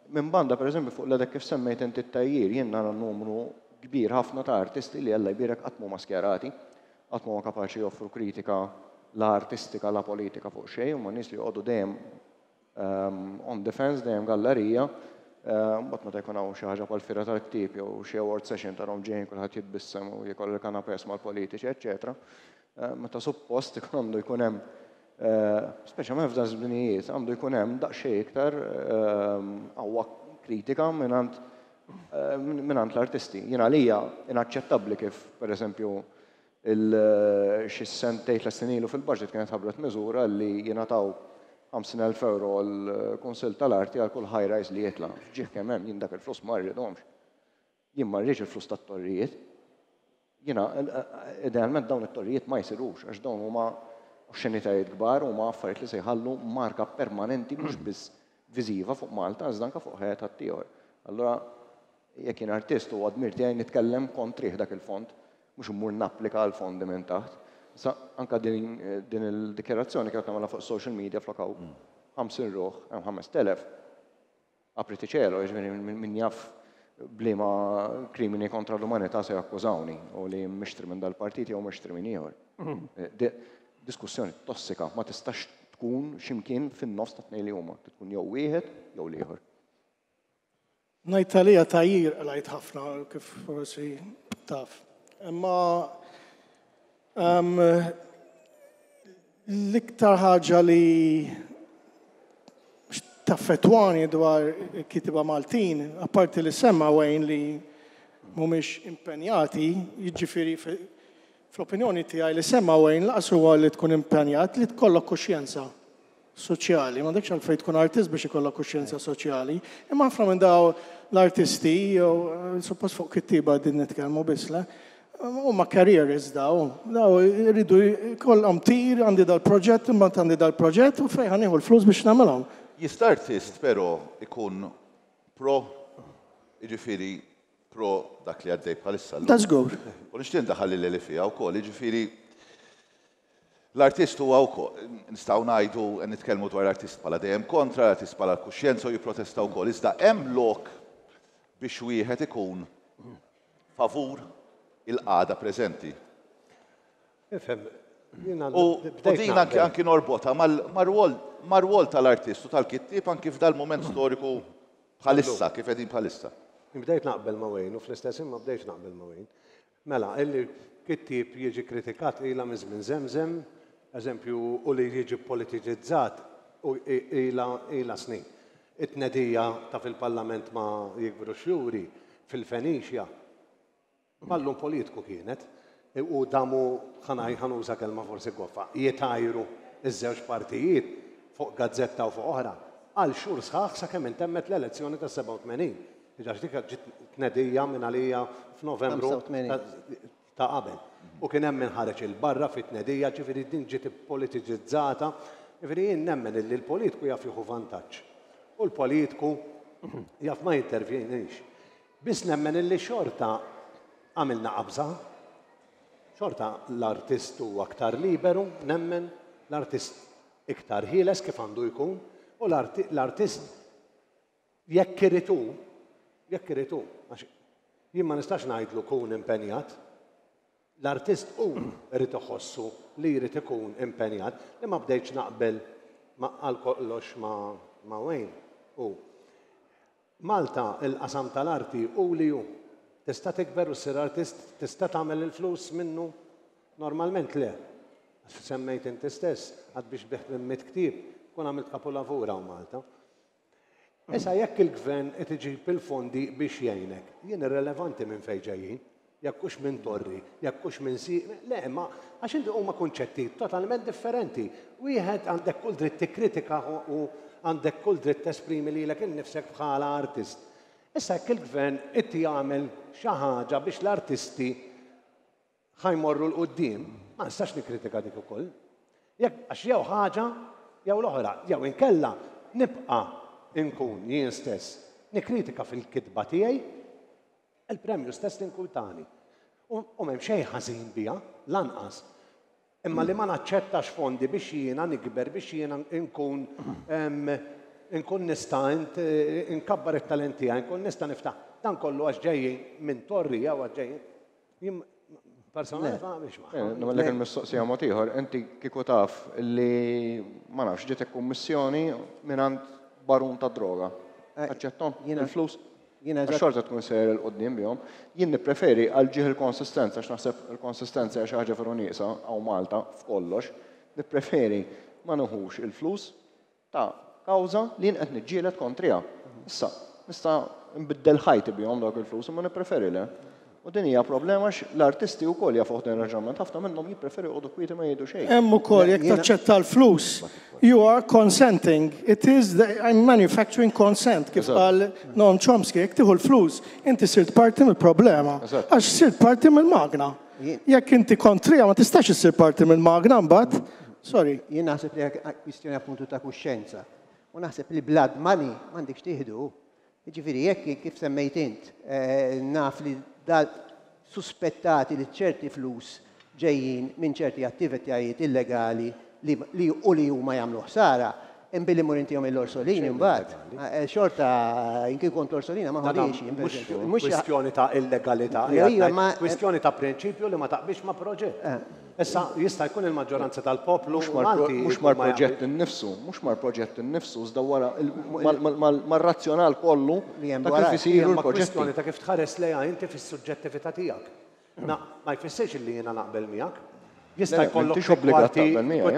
Minn banda, pereżempju, fuq l-għadek kif semmejt inti t-tgħajjir, jien nara numru kbir ħafna ta' artisti li Alla jbierek qatt m'huma skjerati, qatt m'huma kapaċi joffru kritika la artistika la politika fuq xejn, huma nies li joqogħdu dejjem On the fence, dejjem gallerija. Mbagħad meta jkun hawn xi ħaġa bħal fiera tal-ktieb jew xi award session tarahom ġejjin kulħadd jitbissem u jiekol il-canapés mal-politiċi, eċċetera. Meta suppost ikun għandu jkun hemm, speċjalment f'dan żminijiet, għandu jkun hemm daqsxejn iktar qawwa kritika mingħand mingħand l-artisti. Jien għalija inaċċettabbli kif, pereżempju, Xi sentejn, tlett snin ilu fil-budget kienet ħabbret miżura li jingħataw 50,000 ewro għall-Kunsill tal-Arti għal kull high rise li jitla'. F'ġieħ kemm hemm, jien dak il-flus ma rridhomx. Jien ma rridx il-flus tat-torrijiet. Jiena idealment dawn it-torrijiet ma jsirux għax dawn huma oxxenitajiet kbar, huma affarijiet li se jħallu marka permanenti mhux biss viżiva fuq Malta iżda anke fuq ħajja ħaddieħor. Allura jekk jien artist huwa dmir tiegħi nitkellem kontrih dak il-fond mhux immur napplika għal fondi minn taħt. Issa anke din din il-dikjarazzjoni kienet nagħmilha fuq social media flok hawn 50 ruħ hemm 5000. Apriti cielo, jiġifieri min jaf b'liema krimini kontra l-umanità se jakkużawni u li mixtri minn dal-partit jew mixtri minn ieħor. Diskussjoni tossika ma tistax tkun x'imkien fin-nofs tat-tnejn li huma, tkun jew wieħed jew l-ieħor. Ngħid għalija tgħajjir qlajt ħafna kif forsi taf. Imma l-iktar ħaġa li taffettwani dwar il-kittieba Maltin, apparti li semma Wayne li mhumiex impenjati, jiġifieri fl-opinjoni tiegħi li semma Wayne laqas huwa li tkun impenjat li tkollok kuxjenza. soċjali. M'għandekx għalfejn tkun artist biex ikollok kuxjenza soċjali. Imma ħafna minn daw l-artisti, jew suppost fuq kittieba din nitkellmu biss, le? Huma careerists daw. Daw iridu jkollhom tir, għandi dal-proġett, imbagħad għandi dal-proġett u fejn ħa nieħu l-flus biex nagħmilhom. Jista' artist però ikun pro, jiġifieri pro dak li għaddej bħalissa llum. Da żgur. U nixtieq ndaħħal lil Eli fiha wkoll, jiġifieri L-artist huwa wkoll, nistgħu ngħidu, nitkellmu dwar l-artist bħala dejjem kontra, l-artist bħala l-kuxjenza u jipprotesta wkoll, iżda hemm lok biex wieħed ikun favur il-qagħda preżenti. Ifhem, jiena U din anki anki norbotha mar-rwol tal-artist u tal-kittieb anki f'dal-mument storiku bħalissa, kif qegħdin bħalissa. Bdejt naqbel ma' Wayne u fl-istess ħin ma bdejtx naqbel ma' Wayne. Mela, illi kittieb jiġi kritikat ilha minn żmien żemżem, eżempju, u li jiġi ppolitiċizzat ilha ilha snin. It-tnedija ta' fil-Parlament ma jikbru x-xjuri, fil-Fenicia, ballun politiku kienet, u damu, ħa ngħid, ħa nuża kelma forsi goffa, jitgħajru ż-żewġ partijiet fuq gazzetta u fuq oħra, għal xhur sħaħ sakemm intemmet l-elezzjoni tas-87. Għax dik ġiet tnedija minn għalija f'Novembru ta' qabel. U kien hemm min ħareġ 'il barra fit-tnedija, ġifieri din ġiet ippolitiċizzata. Ġifieri jien nemmen illi l-politku jaf jieħu vantaġġ. U l-politku jaf ma jintervjenix. Biss nemmen illi xorta għamilna qabża. Xorta l-artist huwa aktar liberu, nemmen, l-artist iktar ħieles kif għandu jkun, u l-artist jekk irid hu, jekk irid hu, għax jien ma nistax ngħidlu kun impenjat, l-artist hu jrid iħossu li jrid ikun impenjat, li ma bdejtx naqbel għal kollox ma' Wayne hu. Malta il-qasam tal-arti hu li hu. Tista' tikber u ssir artist, tista' tagħmel il-flus minnu? Normalment le. Għax semmejt inti stess, għad biex tbigħ 800 ktieb, tkun għamilt kapulavur hawn Malta. Issa jekk il-gvern qed iġib il-fondi biex jgħinek, jien irrelevanti minn fejn ġejjin. Jekk hux minn torri, jekk hux minn si, le, imma għax inti huma kunċetti totalment differenti. Wieħed għandek kull dritt tikkritika u għandek kull dritt tesprimi lilek innifsek bħala artist. Issa jekk il-gvern qed jagħmel xi ħaġa biex l-artisti ħa jmorru 'l quddiem, ma nistax nikkritika dik ukoll. Jekk għax jew ħaġa jew l-oħra, jew inkella nibqa' nkun jien stess nikkritika fil-kitba tiegħi Il-premju stess tinkwitani. U m'hemm xejn ħażin biha, lanqas. Imma li ma naċċettax fondi biex jiena nikber, biex jiena nkun nkun nista' nkabbar it-talent tiegħi, nkun nista' niftaħ. Dan kollu għax ġejjin minn torri jew għax ġejjin. Jien personalment ma naqbilx magħha. Nagħmellek il-mistoqsija mod ieħor. Inti kieku taf li ma nafx ġietek kummissjoni mingħand barun tad-droga. Taċċetthom il-flus? Għax xorta tkun sejjer 'il quddiem bihom. Jien nippreferi għal ġieħ il-konsistenza, għax naħseb il-konsistenza hija xi ħaġa veru nieqsa hawn Malta f'kollox, nippreferi ma nieħux il-flus ta' kawża li jien qed niġġieled kontriha. Issa, nista' nbiddel ħajti bihom dawk il-flus imma nippreferi le. U din hija problema għax l-artisti wkoll jafuh dan ir-raġunament, ħafna minnhom jippreferu joqogħdu kwieti ma jgħidu xejn. Hemm ukoll jekk taċċetta l-flus, you are consenting. It is the, I'm manufacturing consent, kif qal Noam Chomsky, jekk tieħu l-flus, inti sirt parti mill-problema. Għax sirt parti mill-magna. Jekk inti kontriha ma tistax issir parti mill-magna mbagħad. Sorry. Jien naħseb li hija kwistjoni appuntu ta' kuxjenza. U naħseb li blood money m'għandekx tieħdu. Jiġifieri jekk, kif semmejt int, naf li suspettati li ċerti flus ġejjin minn ċerti attivitajiet illegali li u li huma jagħmlu ħsara, imbilli mmur intihom il-Orsolini mbagħad, xorta jien kieku kont l-Orsolina ma ħodhiex jien pereżempju. Mhux kwistjoni ta' illegalità, hija kwistjoni ta' prinċipju li ma taqbilx ma' proġett. Issa, jista' jkun il-maġġoranza tal-poplu Malti. Mhux mal-proġett innifsu, mhux mal-proġett innifsu, iżda wara mar-razzjonal kollu ta' kif isiru l-proġetti. Kwistjoni ta' kif tħares lejha inti fis-suġġettività tiegħek. Ma jfissirx illi jiena naqbel miegħek. Jista' jkollok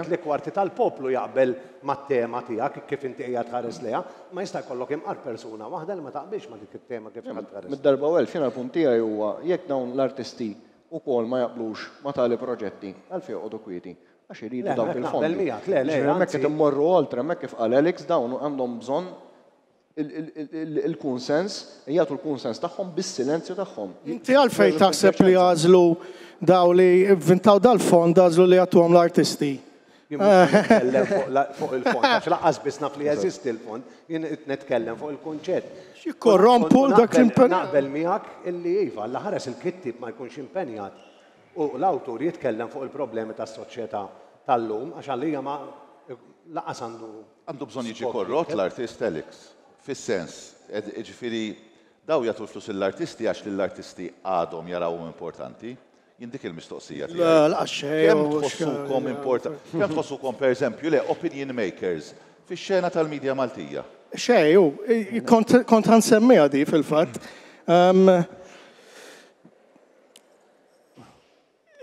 tli kwarti tal-poplu jaqbel mat-tema tiegħek kif inti qiegħed tħares lejha, imma jista' jkollok imqar persuna waħda li ma taqbilx ma' dik it-tema kif qiegħed tħares. Mid-darba u elf, jiena l-punt tiegħi huwa jekk dawn l-artisti ukoll ma jaqblux ma' tali proġetti, għalfejn joqogħdu kwieti? Għax iridu dawk il-fondi. Jiġifieri hemmhekk qed immorru oltre, hemmhekk kif qal Alex dawn għandhom bżonn il-kunsens, jagħtu l-kunsens tagħhom bis-silenzju tagħhom. Inti għalfejn taħseb li għażlu dawn li vvintaw dal-fond għażlu li jagħtuhom l-artisti? Jien mhux qed nitkellem fuq il-fond, għax lanqas biss naf li jeżisti l-fond, jien qed nitkellem fuq il-kunċett. Jikkorrompu dak l-impenn. Naqbel miegħek illi iva, Alla ħares il-kittieb ma jkunx impenjat u l-awtur jitkellem fuq il-problemi tas-soċjetà tal-lum għax għalija ma lanqas għandu. Għandu bżonn jiġi korrott l-artist Alex, fis-sens, jiġifieri dawn jagħtu l-flus lill-artisti għax lill-artisti għadhom jarawhom importanti. Jien dik il-mistoqsija tiegħi. Le, laqas xejn. Kemm tħossukom importanti, kemm tħossukom pereżempju, le, opinion makers fix-xena tal-media Maltija? Xejn, hu, kont kont ħa nsemmiha di fil-fatt.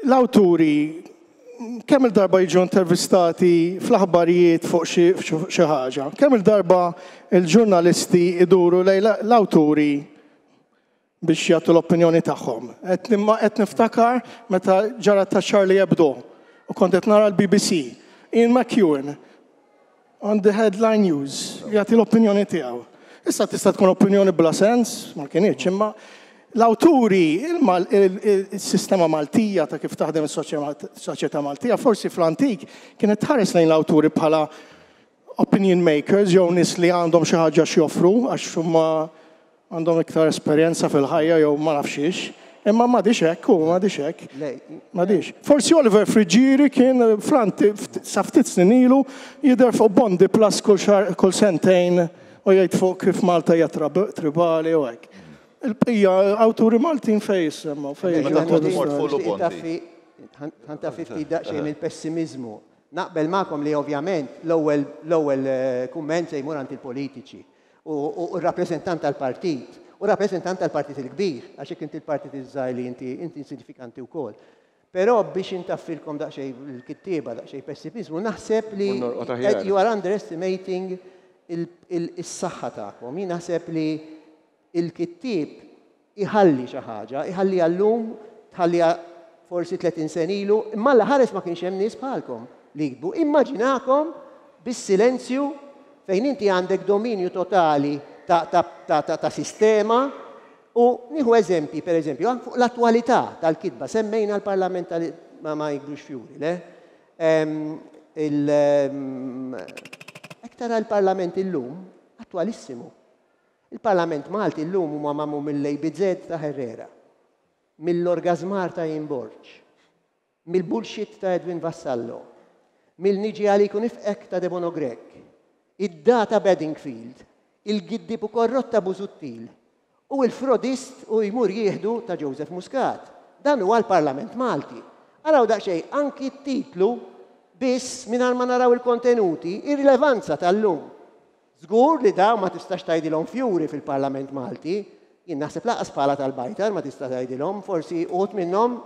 L-awturi kemm il-darba jiġu intervistati fl-aħbarijiet fuq xi ħaġa, kemm il-darba il-ġurnalisti iduru lejn l-awturi biex jagħtu l-opinjoni tagħhom. Qed niftakar meta ġara ta' Charlie Hebdo u kont qed nara l-BBC. Ian McEwan on the headline news jagħti l-opinjoni tiegħu. Issa tista' tkun opinjoni bla sens, ma kinitx, imma l-awturi, il-sistema Maltija ta' kif taħdem is-soċjetà Maltija, forsi fl-antik kienet tħares lejn l-awturi bħala opinion makers jew nies li għandhom xi ħaġa x'joffru għax huma għandhom iktar esperjenza fil-ħajja jew ma nafx xiex. Imma m'għadix hekk u m'għadix hekk. M'għadix. Forsi Oliver Friggieri kien fl-anti sa ftit snin ilu jidher fuq Bondi Plus kull xahar kull sentejn u jgħid fuq kif Malta hija tribali u hekk. Il-bqija awturi Maltin fejn jissemgħu, fejn Meta kont mort fuq Lu Bondi. Ħa ntaffi ftit daqsxejn il-pessimiżmu. Naqbel magħkom li ovvjament l-ewwel l-ewwel kumment se jmur għand il-politiċi u r-rappreżentant tal-partit u rappreżentant tal-partit il-kbir, għax jekk inti l-partit iż-żgħir li inti inti insignifikanti wkoll. Però biex intaffilkom daqsxejn il-kittieba, daqsxejn pessimiżmu, naħseb li you are underestimating is-saħħa tagħkom. Jien naħseb li il-kittieb iħalli xi ħaġa, iħalliha llum, tħalliha forsi 30 sena ilu, imma Alla ħares ma kienx hemm nies bħalkom li jiktbu. Immaġinakom bis-silenzju fejn inti għandek dominju totali ta', ta, ta, ta, ta sistema u nieħu eżempji, per eżempju, fuq l-attwalità tal-kitba, semmejna l-Parlament ma, ma jikbrux fjuri, le? Il, Jekk tara l-Parlament illum, attwalissimu. Il-Parlament Malti llum huma magħmul mill-ABZ ta' Herrera, mill-orgazmar ta' Ian Borg, mill-bullshit ta' Edwin Vassallo, mill-niġi għalik u nifqek ta' Debono Grech, id-data Bedingfield, il-giddib u korrott ta' Busuttil, u il-frodist u jmur jieħdu ta' Joseph Muscat. Dan huwa l-Parlament Malti. Araw daqsxejn anki t-titlu biss mingħajr ma naraw il-kontenuti, ir-rilevanza tal-lum. Żgur li dawn ma tistax tgħidilhom fjuri fil-Parlament Malti, jien naħseb lanqas bħala tal-bajtar ma tista' tgħidilhom, forsi uħud minnhom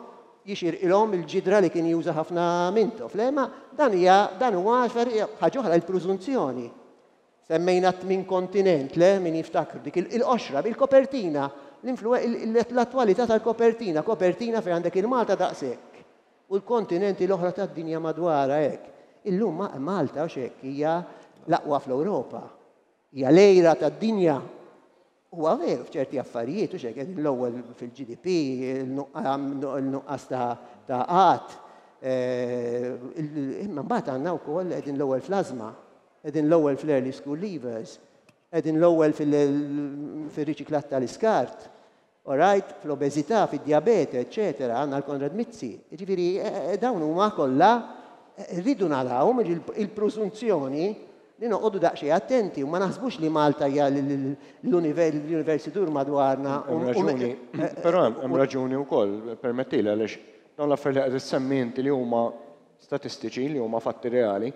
jixirqilhom il-ġidra li kien juża ħafna Mintoff. Le, ma dan hija dan huwa ħaġa oħra il-prużunzjoni. Semmejna tmin kontinent, le, min jiftakru dik il-qoxra, il-kopertina, l-attwalità tal-kopertina, kopertina fejn għandek il-Malta daqshekk u l-kontinenti l-oħra tad-dinja madwarha hekk. Illum Malta hekk hija l-aqwa fl-Ewropa. Hija l-għira tad-dinja. Huwa veru f'ċerti affarijiet u xek qegħdin l-ewwel fil-GDP, il-nuqqas ta' qgħad. Imma mbagħad għandna wkoll qegħdin l-ewwel fl-ażma, qegħdin l-ewwel fl-early school leavers, qegħdin l-ewwel fil-riċiklat tal-iskart. Alright, fl-obeżità, fid-diabete, eccetera, għandna l-Konrad Mizzi. Ġifieri, dawn huma kollha rridu naraw il-preżunzjoni li noqogħdu daqsxejn attenti u ma naħsbux li Malta hija l-univers idur madwarna. Raġuni, però hemm raġuni wkoll, permettili għaliex dawn l-affarijiet li qed issemmi inti li huma statistiċi, li huma fatti reali,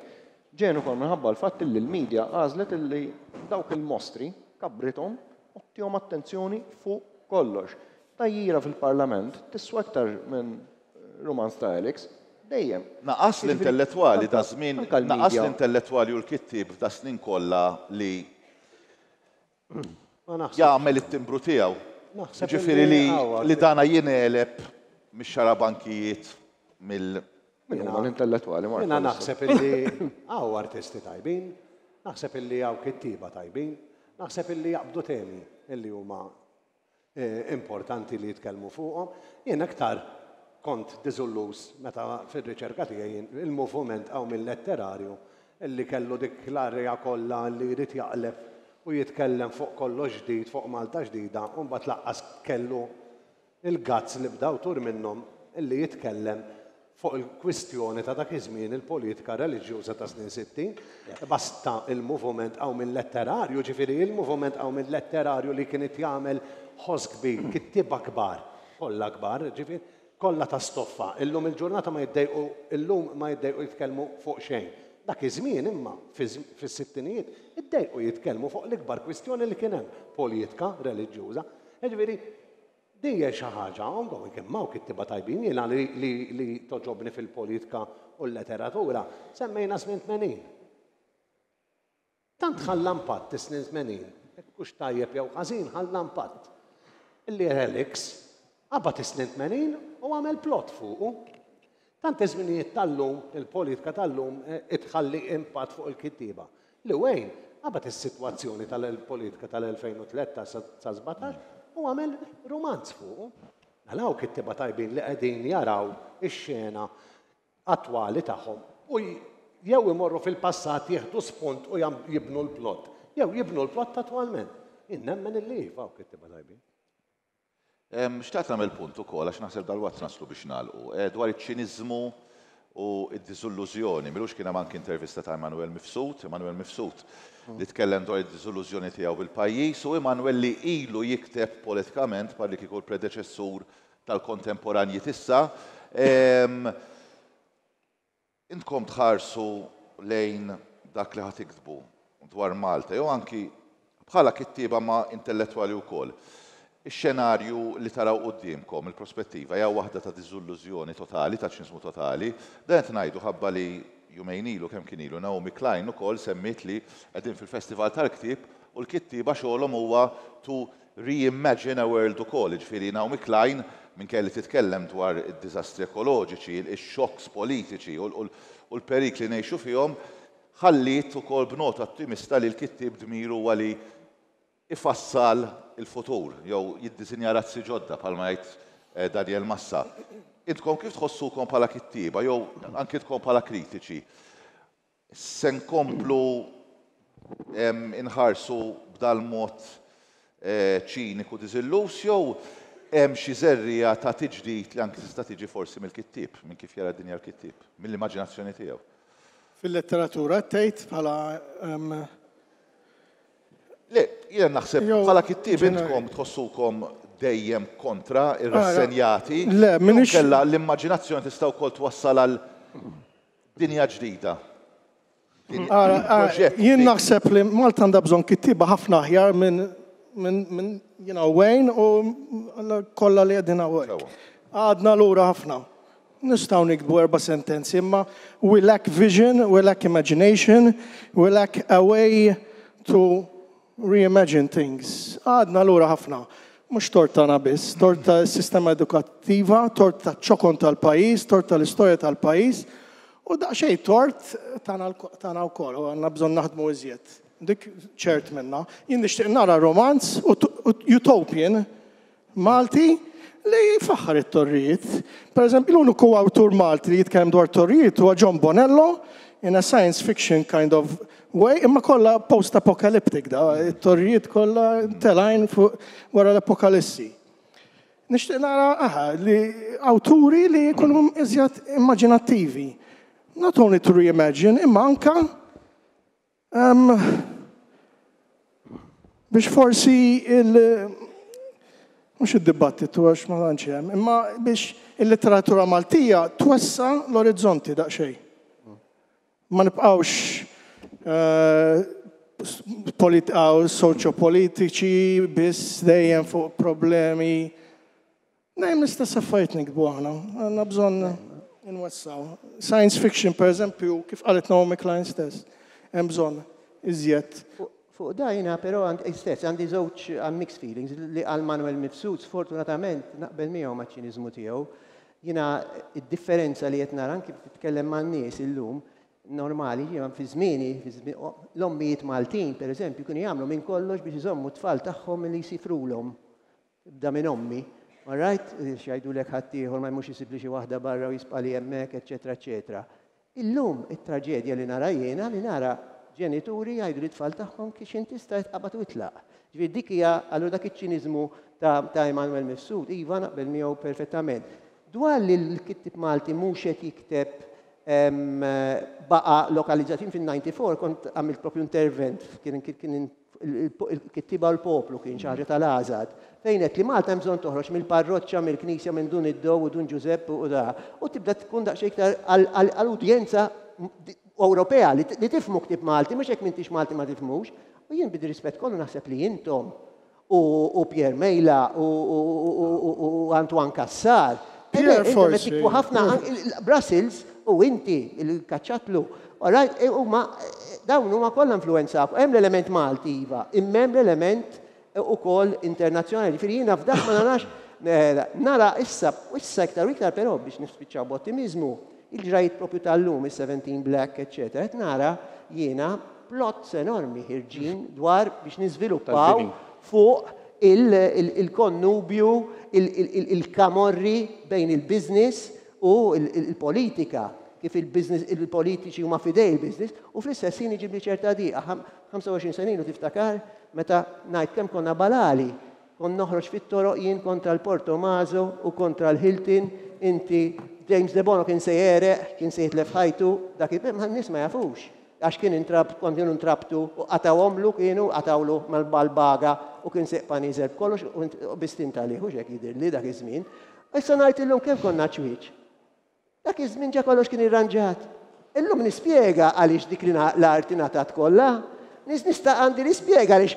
ġejjin ukoll minħabba l-fatt li l-medja għażlet li dawk il-mostri kabrithom u ttihom attenzjoni fuq kollox. Tgħajjira fil-Parlament tiswa iktar minn rumanz ta' Alex, dejjem. Naqas l-intellettwali da żmien, naqas l-intellettwali u l-kittib f'da snin kollha li jagħmel it-timbru tiegħu. Ġifieri li dana jingħeleb mix-xarabankijiet mill Min huma l-intellettwali, Mark? Jiena naħseb illi hawn artisti tajbin, naħseb illi hawn kittieba tajbin, naħseb illi jaqbdu temi illi huma importanti li jitkellmu fuqhom. Jien aktar kont diżilluż meta fir-riċerka tiegħi il-moviment hawn mill-letterarju illi kellu dik l-arja kollha li jrid jaqleb u jitkellem fuq kollox ġdid, fuq Malta ġdida, u mbagħad lanqas kellu il-guts li bda awtur minnhom illi jitkellem fuq il-kwistjoni ta' dak iż-żmien il-politika reliġjuża ta' snin 60. Basta il-moviment hawn minn letterarju, ġifieri il-moviment hawn minn letterarju li kien jagħmel ħoss kbir, kittieba kbar, kollha kbar, ġifieri kollha ta' stoffa. Illum il-ġurnata ma jiddejqu, illum ma jiddejqu jitkellmu fuq xejn. Dak iż-żmien imma fis-sittinijiet iddejqu jitkellmu fuq l-ikbar kwistjoni li kien hemm, politika reliġjuża. Ġifieri din hija xi ħaġa ongoing imma u kittieba tajbin jiena li, li, li togħġobni fil-politika u l-letteratura semmejna snin 80. Tant ħalla impatt is-snin 80, hekk hux tajjeb jew ħażin ħalla impatt. Illi Alex qabad is-snin 80 u għamel plot fuqu. Tant iż-żminijiet tal-lum, il-politika tal-lum itħalli impatt fuq il-kittieba. Li Wayne, Qabad is-sitwazzjoni tal-politika tal-2013 sa 17 u għamel rumanz fuqu. Mela hawn kittieba tajbin li qegħdin jaraw ix-xena attwali tagħhom u jew imorru fil-passat jieħdu spunt u jibnu l-plot, jew jibnu l-plot attwalment. Jien nemmen illi iva hawn kittieba tajbin. Xtaqt nagħmel punt ukoll għax naħseb dalwaqt naslu biex nagħlqu, dwar iċ-ċiniżmu u d-diżillużjoni. M'ilux kien hemm anki intervista ta' Immanuel Mifsud, Immanuel Mifsud li tkellem dwar id-diżillużjoni tiegħu bil-pajjiż u Immanuel li ilu jikteb politikament bħal li kieku l-predeċessur tal-kontemporanji t'issa. Intkom tħarsu lejn dak li ħa tiktbu dwar Malta jew anki bħala kittieba ma intellettwali wkoll. Ix-xenarju li taraw quddiemkom, il-prospettiva, hija waħda ta' diżillużjoni totali, ta' ċiniżmu totali. Dan qed ngħidu ħabba li jumejn ilu, kemm kien ilu, Naomi Klein ukoll semmiet li qegħdin fil-Festival tal-Ktieb u l-kittieba xogħolhom huwa to reimagine a world ukoll, jiġifieri Naomi Klein minkejja li titkellem dwar id-diżastri ekoloġiċi, ix-xokks politiċi u l-perikli li ngħixu fihom, ħalliet ukoll b'nota ottimista li l-kittieb dmiru huwa li ifassal il-futur jew jiddisinja razzi ġodda bħalma jgħid Daniel Massa. Intkom kif tħossukom bħala kittieba jew anki intkom bħala kritiċi? Se nkomplu inħarsu b'dal-mod ċiniku diżilluż jew hemm xi żerriegħa ta' tiġdid li anki tista' tiġi forsi mill-kittieb, minn kif jara d-dinja l-kittieb, mill-immaġinazzjoni tiegħu? Fil-letteratura tgħid bħala Le, jiena naħseb bħala kittieb intkom tħossukom dejjem kontra, irrassenjati. Le, m'iniex. Kellha l-immaġinazzjoni tista' wkoll twassal għal dinja ġdida. Jien naħseb li Malta għandha bżonn kittieba ħafna aħjar minn minn jiena Wayne u kollha li qegħdin hawnhekk. Għadna lura ħafna. Nistgħu niktbu erba' sentenzi imma we lack vision, we lack imagination, we lack a way to reimagine things. Għadna lura ħafna. Mhux tort tagħna biss, tort tas-sistema edukattiva, tort taċ-ċokon tal-pajjiż, tort tal-istorja tal-pajjiż u daqsxejn tort tagħna wkoll u għandna bżonn naħdmu iżjed. Dik ċert minnha. Jien nixtieq nara romanz utopian Malti li jfaħħar it-torrijiet. Per eżempju, l-uniku awtur Malti li jitkellem dwar torrijiet huwa John Bonello in a science fiction kind of way, imma kollha post-apocalyptic da, it-torrijiet kollha telgħin fuq wara l-apokalissi. Nixtieq nara aha, li awturi li jkunu iżjed immaġinattivi. Not only to reimagine, imma anka Biex forsi il mhux id-dibattitu għax ma tantx hemm, imma biex il-letteratura Maltija twessa l-orizzonti daqsxejn. Ma nibqgħux eh, soċjopolitiċi biss dejjem fuq problemi Dejjem l-istess affarijiet niktbu aħna, għandna bżonn inwessgħu. Science fiction, per eżempju, kif qalet Naomi Klein stess, hemm bżonn iżjed. Fuq da jiena però stess għandi żewġ mixed feelings li qal Manuel Mifsud, sfortunatament naqbel miegħu maċ-ċiniżmu tiegħu. Jiena d-differenza li qed nara anki titkellem man-nies illum, normali, jiena fi żmieni, l-ommijiet Maltin, per eżempju, kienu jagħmlu minn kollox biex iżommu t-tfal tagħhom milli jsifrulhom. Ibda minn ommi, all right, x'jgħidulek ħaddieħor ma jmurx isibli xi waħda barra u jisqali hemmhekk, eċċetera, eċċetera. Illum it-traġedja li nara jiena li nara ġenituri jgħidu lit-tfal tagħhom kif x'int tista' tqabad u itlaq. Ġifieri dik hija allura dak iċ-ċiniżmu ta' ta' Emanuel Mifsud, iva naqbel miegħu perfettament. Dwar li l-kittieb Malti mhux qed jikteb baqa' lokalizzat, jien fin-94 kont għamilt propju intervent kien kien il-kittieba u l-poplu kien xi ħaġa tal-għażad, fejn għedt li Malta hemm bżonn toħroġ mill-parroċċa, mill-knisja, minn Dun id-Dow u Dun Ġużepp u da, u tibda tkun daqsxejn iktar għal udjenza Ewropea li tifhmu ktieb Malti, mhux jekk m'intix Malti ma tifhmux. U jien bid-rispett kollu naħseb li intom u Pierre Mejla u Antoine Cassar. Pierre forsi. Ħafna Brussels u inti il-kaċċatlu. Alright, e, huma dawn huma kollha influenzaw. Hemm l-element Malti iva, imma hemm l-element ukoll internazzjonali. Ġifieri jiena f'dak ma narax eh, nara issa issa iktar u iktar però biex nispiċċaw b'ottimiżmu, il-ġrajiet propju tal-lum, is-17 Black, eċċetera, qed nara jiena plots enormi ħirġin dwar biex niżviluppaw fuq il-konnubju, il-kamorri bejn il-business u l-politika, kif il-business, il-politiċi huma f'idej il-business, u fl-istess ħin iġibli ċerta diqa. 25 sena ilu tiftakar meta ngħid kemm konna balali, kont noħroġ fit-toroq jien kontra l-Portomaso u kontra l-Hilton, inti James Debono kien se jegħreq, kien se jitlef ħajtu, dak il-nies ma jafux. Għax kien intrab, kont kienu ntrabtu u qatawhomlu kienu, qatawlu mal-baga u kien se jibqa' nieżel b'kollox u bistint għalih, hux hekk jidhirli dak iż-żmien. Issa ngħid illum kemm konna ċwieċ. Dak iż-żmien ġa kollox kien irranġat. Illum nispjega għaliex dik l-art ingħatat kollha. Nista' għandi nispjega għaliex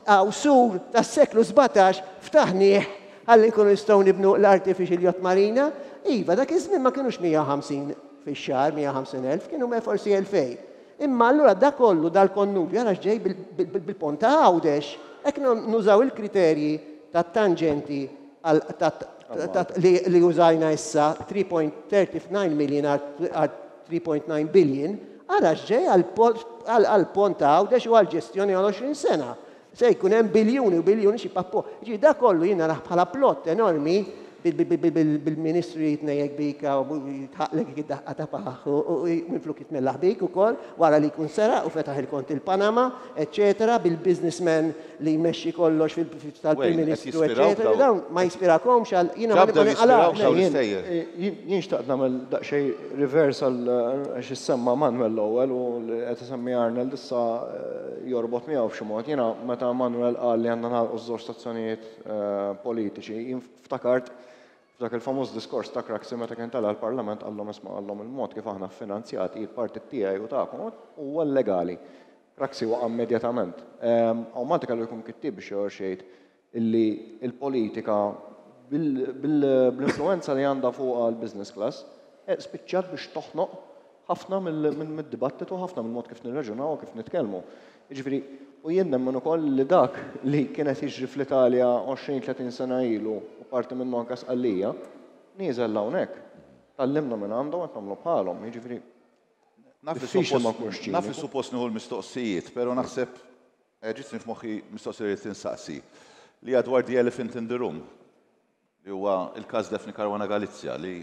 hawn sur tas-seklu 17 ftaħnieh ħalli nkunu nistgħu nibnu l-artificial yacht marina. Iva, dak iż-żmien ma kinux 150 fix-xahar, 150,000, kienu forsi 2000. Imma allura da kollu dal-konnubju għala ġej bil-pont ta' Għawdex. Hekk nużaw il-kriterji tat-tangenti li użajna issa 3.39 million għal 3.9 billion, ara x'ġej għall-pont ta' Għawdex u għall-ġestjoni għal 20 sena. Se jkun hemm biljuni u biljuni xi pappo. Ġifieri da kollu jien narah bħala plott enormi bil-ministru jitnejjek bik u jitħaqlek id-daqqa ta' paħ u minflok jitmellaħ bik ukoll wara li jkun seraq u fetaħ il-kont il-Panama, eċċetera, bil-businessman li jmexxi kollox tal-Prim Ministru, eċċetera. Dawn ma jispirakomx għal jiena ma nqalgħax. Jien xtaqt nagħmel daqsxejn reverse għal għax issemma Manuel l-ewwel u li qed isemmi Arnold issa jorbot miegħu b'xi mod. Jiena meta Manuel qal li għandna nagħlqu ż-żewġ stazzjonijiet politiċi, jien ftakart f'dak il-famuż diskors ta' Craxi meta kien tela' l-Parlament qallhom isma' qallhom il-mod kif aħna ffinanzjati il-partit tiegħi u tagħkom huwa llegali. Craxi waqa' immedjatament. Hawn Malta kellu jkun kittieb biex joħroġ jgħid illi l-politika bl-influwenza li għandha fuqha l-business class spiċċat biex toħnoq ħafna mid-dibattitu, ħafna mill-mod kif nirraġunaw u kif nitkellmu. Jiġifieri, u jien nemmen ukoll li dak li kien qed jiġri fl-Italja 20-30 sena ilu u parti minnu anke Sqallija, nieżel hawnhekk. Tgħallimna minn għandhom qed nagħmlu bħalhom. Jiġifieri, diffiċli ma nkunx ċiniku. Naf li suppost nieħu l-mistoqsijiet, però naħseb ġietni f'moħħi mistoqsija li rrid insaqsi, li hija dwar the elephant in the room, li huwa l-każ Daphne Caruana Galizia li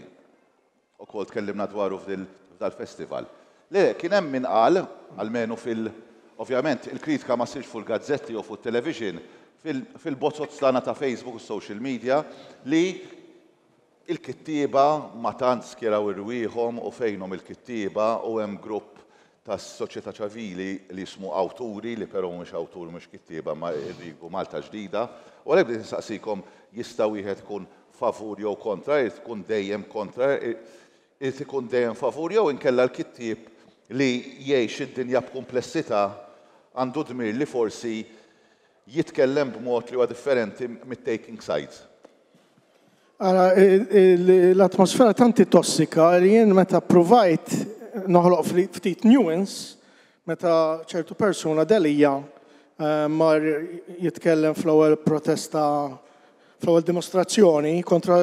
wkoll tkellimna dwaru f'dal-festival. Le, kien hemm min qal, almenu fil- ovvjament il-kritika ma ssirx fuq il-gazzetti jew fuq it-television, fil-bozoz tagħna ta' Facebook u social media, li il-kittieba ma tant skjeraw irwieħhom u fejnhom il-kittieba u hemm grupp tas-soċjetà ċivili li jismu awturi li però mhumiex awturi mhux kittieba ma jridu Malta ġdida. U għalhekk bdejt insaqsikom jista' wieħed ikun favur jew kontra, irid ikun dejjem kontra, irid ikun dejjem favur jew inkella l-kittieb li jgħix id-dinja b'kumplessità għandu dmir li forsi jitkellem b'mod li huwa differenti mit-taking sides. Ara, l-atmosfera tant hi tossika li jien meta ppruvajt noħloq ftit nuance, meta ċertu persuna Delia mar jitkellem fl-ewwel protesta, fl-ewwel dimostrazzjoni kontra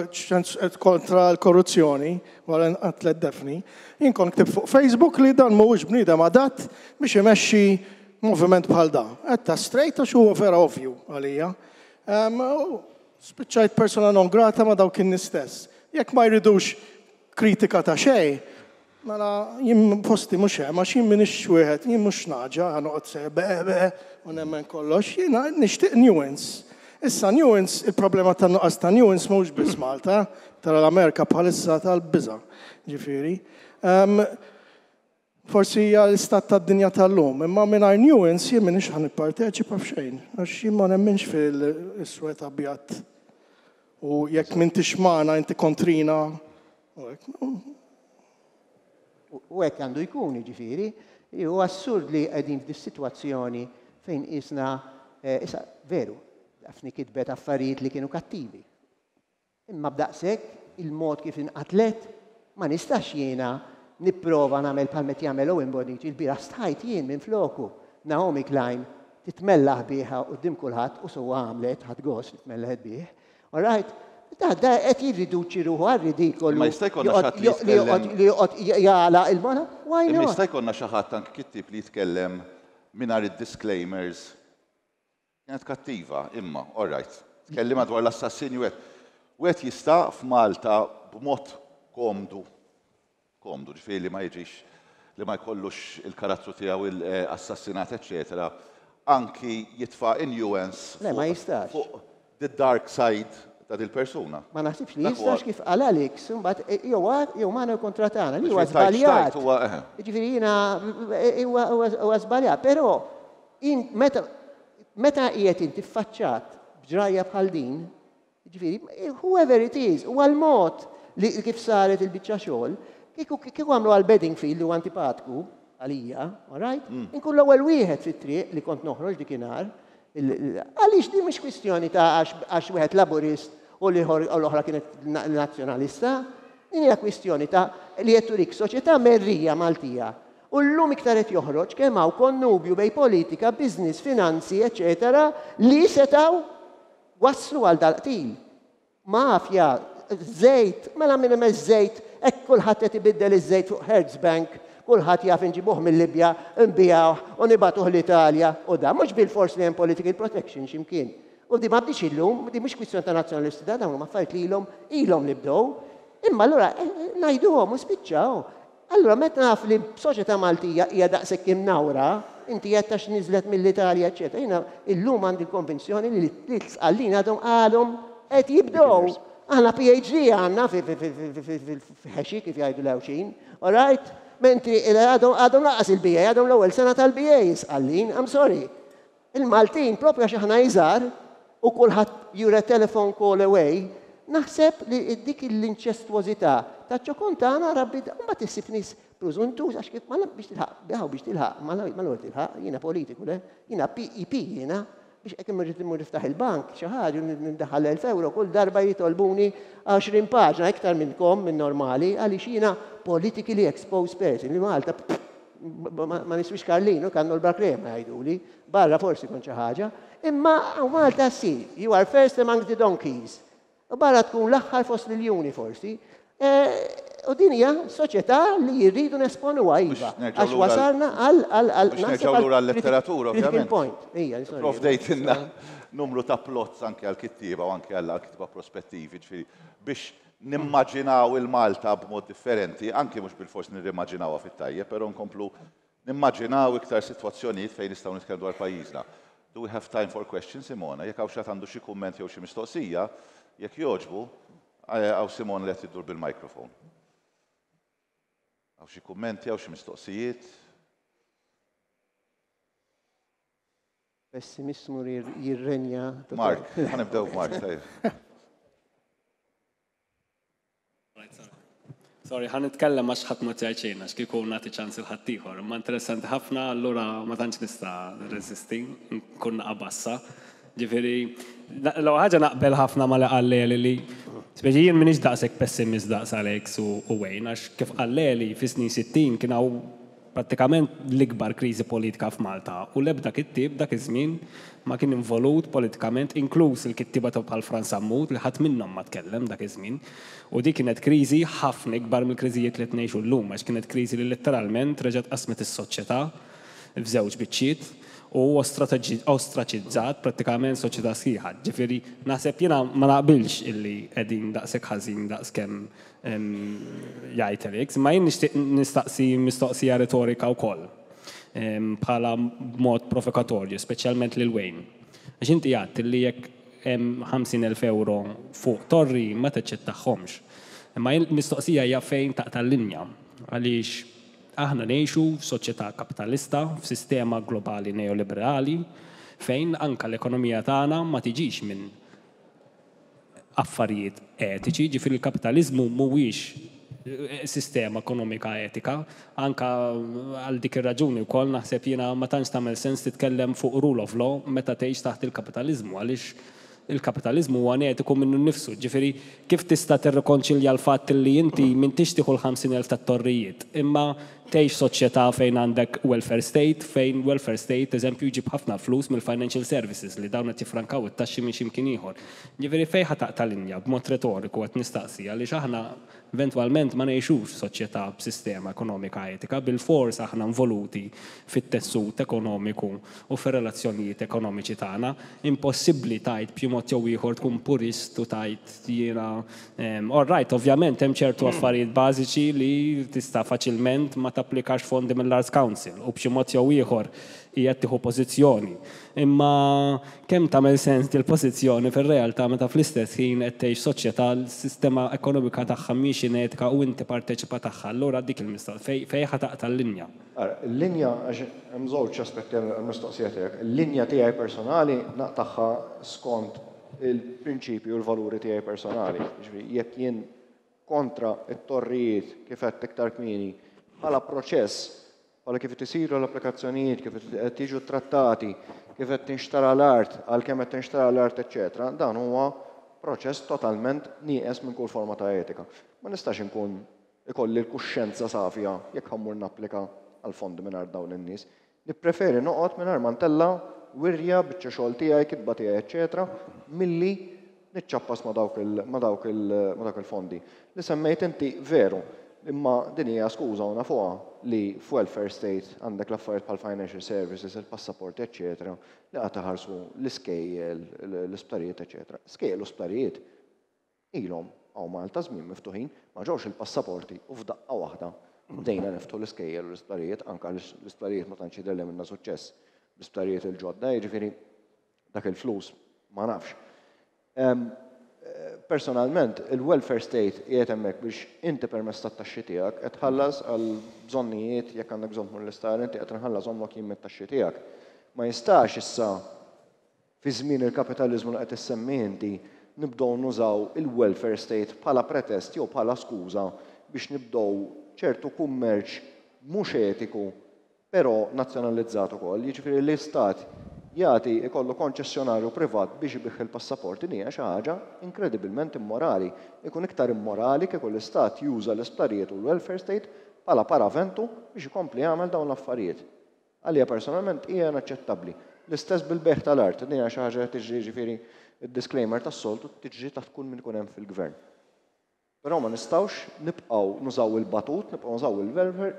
kontra l-korruzzjoni wara nqatlet Daphne, jien kont ktibt fuq Facebook li dan mhuwiex bniedem adatt biex imexxi moviment bħal da. Għedtha straight għax huwa vera ovvju għalija. Spiċċajt persona non grata ma' dawk in-nies stess. Jekk ma jridux kritika ta' xejn, mela jien posti mhux hemm għax jien m'iniex wieħed, jien mhux nagħġa ħa noqgħod se beqe beqe u nemmen kollox, jiena nixtieq nuance. Issa nuance, il-problema tan-nuqqas ta' nuance mhux biss Malta, tara l-Amerika bħalissa tal-biża', ġifieri. Forsi hija l-istat tad-dinja tal-lum, imma mingħajr nuance jien m'iniex ħa nipparteċipa f'xejn, għax jien ma nemminx fil-iswed abjad u jekk m'intix magħna inti kontrina u hekk. U hekk għandu jkun, jiġifieri, hu assurd li qegħdin f'dis-sitwazzjoni fejn qisna, issa veru, Daphne kitbet affarijiet li kienu kattivi. Imma b'daqshekk il-mod kif inqatlet ma nistax jiena nipprova nagħmel bħal qed jagħmel Owen Bonnici. Il-bieraħ stħajt jien minfloku. Naomi Klein titmellaħ bih quddiem kulħadd u sewwa għamlet, ħadt gost li tmellaħet bih. All right? Da, da qed jirriduċi ruħu għar-ridikolu. Imma jista' jkollna xi ħadd li jitkellem. Li joqgħod jagħlaq il-mona? Why not? Imma jista' jkollna xi ħadd anki kittieb li jitkellem. mingħajr id-disclaimers kienet kattiva, imma, all right, tkellimha dwar l-assassinju hekk. Wieħed jista' f'Malta b'mod komdu, komdu, ġifieri li ma jiġix li ma jkollux il-karattru tiegħu assassinat, eċċetera, anki jitfa' in-nuance Le, ma jistax. fuq the dark side ta' dil-persuna. Ma naħsibx li Dak huwa- jistax kif qal Alex, imbagħad jew jew magħna jew kontra tagħna, li huwa Ġifieri tajt żbaljat. xtajt huwa, eħe. Jiġifieri jiena huwa huwa żbaljat, però in- meta meta qiegħed inti ffaċċat b'ġrajja bħal din, jiġifieri whoever it is, huwa l-mod li kif saret il-biċċa xogħol, kieku kieku għamlu għal Bedingfield li huwa antipatku għalija, all right? Inkun l-ewwel wieħed fit-triq li kont noħroġ dikinhar. Għaliex din mhix kwistjoni ta' għax wieħed laburist u l-ieħor u l-oħra kienet nazzjonalista. Din hija kwistjoni ta' li qed turik soċjetà merrija Maltija. U llum iktar qed joħroġ kemm hawn konnubju bejn politika, business, finanzi, eċetera, li setgħu waslu għal dal-qtil. Mafja, żejt, mela minn hemm iż-żejt, hekk kulħadd qed ibiddel iż-żejt fuq Hertz Bank, kulħadd jaf inġibuh mill-Libja, nbigħuh u nibagħtuh l-Italja u da mhux bil-fors li hemm political protection x'imkien. U di ma bdiex illum, di mhux kwistjoni ta' nazzjonalisti, da dawn huma affarijiet li ilhom ilhom li bdew. Imma allura ngħiduhom u spiċċaw. Allura meta naf li soċjetà Maltija hija daqshekk imnawra, inti qed tax niżlet mill-Italja, eċetera. Jiena illum għandi l-konvinzjoni li l-Sqallin għadhom għadhom qed jibdew. Aħna PhD għandna fi ħexi kif jgħidu l-Għawdxin, all right? Mentri għadhom għadhom laqas il-BA, għadhom l-ewwel sena tal-BA Sqallin, I'm sorry. Il-Maltin propju għax aħna iżgħar u kulħadd you're a telephone call away, naħseb li dik l-inċestwożità ta' ċokon tagħna rabbi mbagħad issib nies preżuntus għax kif ma biex tilħaq, biħaw biex tilħaq, ma l-ewwel tilħaq, jiena politiku le, jiena PEP jiena, biex hekk imur immur niftaħ il-bank, xi ħaġa ndaħħal 1000 euro, kull darba jitolbuni 20 paġna iktar minnkom minn normali, għaliex jiena politically exposed person li Malta ma niswix Karlinu, kannu l-bakrema jgħiduli, barra forsi kon xi ħaġa, imma Malta si, you are first among the donkeys. U barra tkun l-aħħar fost l-iljuni forsi. U din hija soċjetà li jridu nesponuha iva. Biex nerġgħu Għax lura- wasalna għal għal għal Biex naħseb nerġgħu għal lura l-letteratura, critical ovvjament. point. Ija, sorry. Provdejtilna numru ta' plots anke għal-kittieba u anke għal-kittieba prospettivi, ġifieri biex nimmaġinaw il-Malta b'mod differenti, anke mhux bil-fors nirrimmaġinawha fit-tajjeb, però nkomplu nimmaġinaw iktar sitwazzjonijiet fejn nistgħu nitkellmu dwar pajjiżna. Do we have time for questions, Simona? Jekk hawn xi għandu xi kumment jew xi mistoqsija, jekk jogħġbu, hawn Simona li qed iddur bil-mikrofon. Hawn xi kummenti, hawn xi mistoqsijiet? Pessimismu jirrenja. Mark, ħa nibdew b'Mark, tajjeb. Sorry, ħa nitkellem għax ħadd ma tgħid għax kieku nagħti ċans il ħaddieħor. Imma interessanti ħafna, allura ma tantx nista' nirreżisti, nkun naqabassa. Ġifieri, l ħaġa naqbel ħafna ma li qal li li speċi jien m'iniex daqshekk pessimist daqs Alex u Wayne, għax kif qal li fis-snin 60 kien hawn prattikament l-ikbar kriżi politika f'Malta u l-ebda kittib dak iż-żmien ma kien involut politikament, inkluż il-kittiba ta' bħal Frans Sammut li ħadd minnhom ma tkellem dak iż-żmien. U dik kienet kriżi ħafna ikbar mill-kriżijiet li qed ngħixu llum, għax kienet kriżi li letteralment reġgħet qasmet is-soċjetà f'żewġ biċċiet u ostraċizzat prattikament soċjetà sħiħa. Ġifieri naħseb jiena ma naqbilx illi qegħdin daqshekk ħażin daqskemm jgħid Alex, ma jien nixtieq nistaqsi mistoqsija retorika wkoll bħala mod provokatorju, speċjalment lil Wayne. Għax inti għedt li jekk hemm 50,000 euro fuq torri ma taċċettahomx. Imma jien mistoqsija hija fejn taqta' l-linja għaliex aħna ngħixu f'soċjetà kapitalista, f'sistema globali neoliberali, fejn anka l-ekonomija tagħna ma tiġix minn affarijiet etiċi, ġifieri l-kapitalizmu mhuwiex sistema ekonomika etika, anka għal dik ir-raġuni wkoll naħseb jiena ma tantx tagħmel sens titkellem fuq rule of law meta tgħix taħt il-kapitalizmu għaliex il-kapitalizmu huwa etiku minnu nnifsu. Ġifieri kif tista' tirrikonċilja l-fatt li inti m'intix tieħu l-50,000 tat-torrijiet, imma tgħix soċjetà fejn għandek welfare state, fejn welfare state, eżempju, jġib ħafna flus mill-financial services li dawn qed jifrankaw it-taxxi minn x'imkien ieħor. Ġifieri fejn ħa taqta' linja b'mod retoriku qed nistaqsi għaliex aħna Eventwalment ma ngħixux f'soċjetà b'sistema ekonomika etika, bilfors aħna involuti fit-tessut ekonomiku u fir-relazzjonijiet ekonomiċi tagħna. Impossibbli tgħid b'xi mod jew ieħor tkun purist u tgħid jiena all right, ovvjament hemm ċertu affarijiet bażiċi li tista' faċilment ma tapplikax fondi mill-Arts Council u b'xi mod jew ieħor qiegħed tieħu pożizzjoni. Imma kemm tagħmel sens dil-pożizzjoni fir-realtà meta fl-istess ħin qed tgħix soċjetà li s-sistema ekonomika tagħha mhix inetika u inti parteċipa tagħha? Allura dik il-mistoqsija, fejn ħa taqta' l-linja? Ara, il-linja, għax hemm żewġ aspetti għall-mistoqsija tiegħek. Il-linja tiegħi personali naqtagħha skont il-prinċipji u l-valuri tiegħi personali. Jiġifieri jekk jien kontra t-torrijiet kif għedt iktar kmieni bħala proċess, bħala kif qed isiru l-applikazzjonijiet, kif qed jiġu ttrattati, kif qed tinxtara l-art, għal kemm qed tinxtara l-art, eċċetera, dan huwa proċess totalment nieqes minn kull forma ta' etika. Ma nistax inkun ikolli l-kuxjenza safja jekk ħa mmur napplika għal fondi mingħajr dawn in-nies. Nippreferi noqgħod mingħajr ma ntella' wirja, biċċa xogħol tiegħi, kitba tiegħi eċċetera milli niċċappas ma' dawk il, ma' dawk il, ma' dawk il-fondi. Li semmejt inti veru, imma din hija skuża u nafuha li f'welfare state għandek l-affarijiet bħal financial services, il-passaporti eċċetera li qagħad iħarsu l-iskejjel, l-isptarijiet eċċetera. Skejjel u sptarijiet Ilhom hawn Malta żmien miftuħin, ma ġewx il-passaporti u f'daqqa waħda bdejna niftħu l-iskejjel u l-isptarijiet, anke għaliex l-isptarijiet ma tantx jidher li għamilna suċċess bl-isptarijiet il-ġodda, jiġifieri dak il-flus ma nafx. Personalment, il-welfare state qiegħed hemmhekk biex inti permezz tat-taxxi tiegħek qed tħallas għal bżonnijiet jekk għandek bżonn tmur l-isptar inti qed inħallashomlok jien mit-taxxi tiegħek. Ma jistax issa Fi żmien il-kapitaliżmu li qed issemmi inti, nibdew nużaw il-welfare state bħala pretest jew bħala skuża biex nibdew ċertu kummerċ mhux etiku però nazzjonalizzat ukoll, jiġifieri li stat jagħti ikollu konċessjonarju privat biex ibigħ il-passaporti din hija xi ħaġa inkredibilment immorali. Ikun iktar immorali kieku l-istat juża l-isptarijiet u l-welfare state bħala paraventu biex ikompli jagħmel dawn l-affarijiet. Għalija personalment hija inaċċettabbli. L-istess bil-bejgħ tal-art, din hija xi ħaġa li tiġri jiġifieri d-disclaimer tas-soltu tiġri taħt kull min ikun hemm fil-gvern. Però ma nistgħux nibqgħu nużaw il-batut, nibqgħu nużaw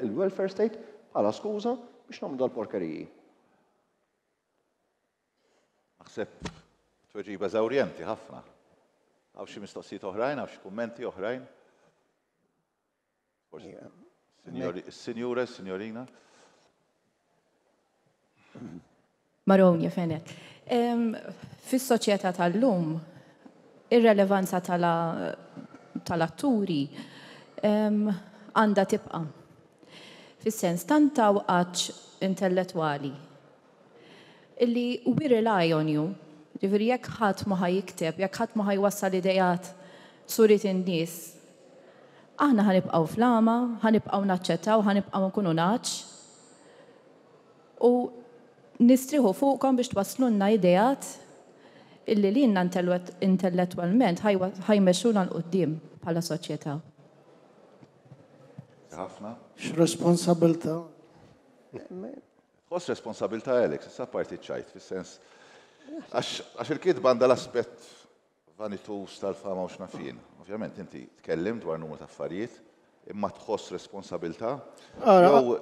il-welfare state bħala skuża biex nagħmlu dal-porkeriji. Naħseb tweġiba eżawrjenti ħafna. Hawn xi mistoqsijiet oħrajn, hawn xi kummenti oħrajn? Signora, signorina. Maronja Fenek. Fis-soċjetà tal-lum, ir-relevanza tal-atturi għandha tibqa'. Fis-sens tant hawn għatx intellettwali illi we rely on you. Ġifieri jekk ħadd ma ħa jikteb, jekk ħadd ma ħa jwassal ideat suriet in-nies, aħna ħa nibqgħu fl-għama, ħa nibqgħu naċċettaw, ħa nibqgħu nkunu nagħaġ u nistrieħu fuqkom biex twasslulna ideat illi lilna intellettwalment ħa jmexxuna 'l quddiem bħala soċjetà. Ħafna. X'responsabilità. Tħoss responsabilità Alex, issa apparti ċ-ċajt, fis-sens għax il-kitba għandha l-aspett vanituż tal-fama u x'naf jien. Ovvjament inti tkellimt dwar numru ta' affarijiet, imma tħoss responsabilità jew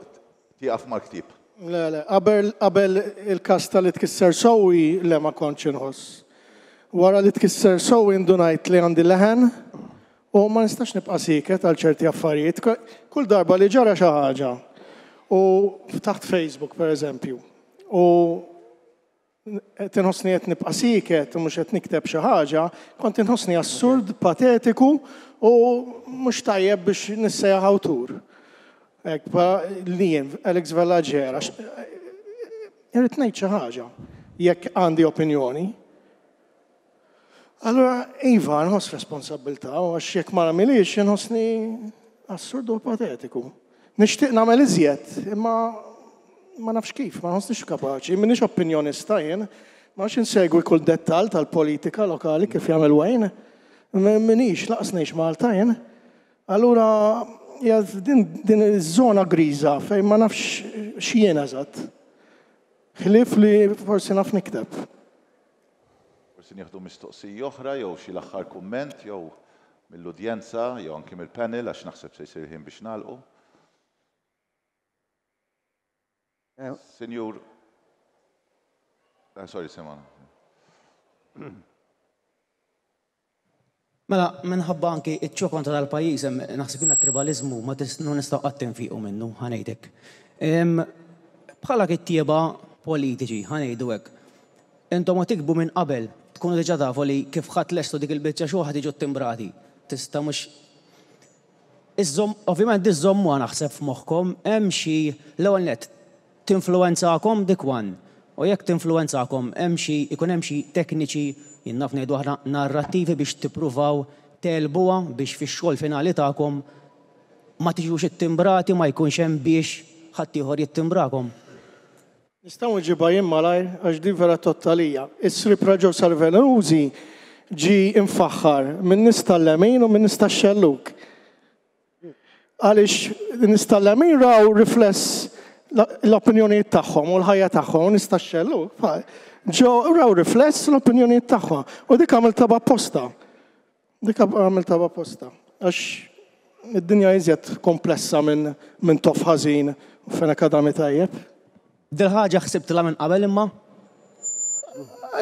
tieqaf mal-ktieb? Le, le, qabel qabel il-każ ta' li tkisser sewwi le ma kontx inħoss. Wara li tkisser sewwi ndunajt li għandi leħen U ma nistax nibqa' sieket għal ċerti affarijiet. Kull darba li ġara xi ħaġa u ftaħt Facebook pereżempju u qed inħossni qed nibqa' sieket u mhux qed nikteb xi ħaġa, kont inħossni assurd, patetiku u mhux tajjeb biex nissejjaħ awtur. Hekk li jien Alex Vella Ġera, irrid ngħid xi ħaġa jekk għandi opinjoni. Allura, iva, nħoss responsabbiltà, u għax jekk ma nagħmilhiex inħossni assurdu u patetiku. Nixtieq nagħmel iżjed, imma ma nafx kif, ma nħossnix kapaċi, m'iniex opinjonista jien, ma nafx insegwi kull dettall tal-politika lokali kif jagħmel Wayne. M'iniex, laqas ngħix Malta jien. Allura, hija din, din iż-żona griża fejn ma nafx x'jien eżatt. Ħlief li forsi naf nikteb. Forsi nieħdu mistoqsija oħra jew xi l-aħħar kumment jew. mill-udjenza jew anki mill-panel għax naħseb se jsir ħin biex nagħlqu. Sinjur, sorry Simona. Mela, minħabba anki ċ-ċokon ta' dal-pajjiż hemm naħseb jiena t-tribaliżmu ma nistgħu qatt infiqu minnu, ħa ngħidlek. Bħala kittieba politiċi, ħa ngħidu hekk, intom ma tiktbu minn qabel, tkunu diġà tafu li kif ħa tlestu dik il-biċċa xogħol ħa tiġu ttimbrati. Tista' mhux iżżomm, ovvjament iżżommuha naħseb f'moħħkom, hemm xi, l-ewwel nett, Tinfluwenzakom dik one? U jekk tinfluwenzakom hemm xi, ikun hemm xi tekniċi, jien naf ngħidu aħna narrattivi biex tippruvaw tegħlbuha biex fix-xogħol finali tagħkom ma tiġux ittimbrati, ma jkunx hemm biex ħaddieħor jittimbrakom? Nista' nweġibha jien malajr għax din vera tgħodd għalija. Is-Srib Raġo Salvenusi ġie mfaħħar min-nies tal-lemin u min-nies tax-xellug. Għaliex nies tal-lemin raw rifless l-opinjonijiet tagħhom u l-ħajja tagħhom u nies tax-xellug ġew raw rifless l-opinjonijiet tagħhom. U dik għamiltha b'apposta. Dik għamiltha b'apposta. Għax id-dinja iżjed komplessa minn min toff ħażin u fenek adami tajjeb. Dil-ħaġa ħsibtilha minn qabel imma?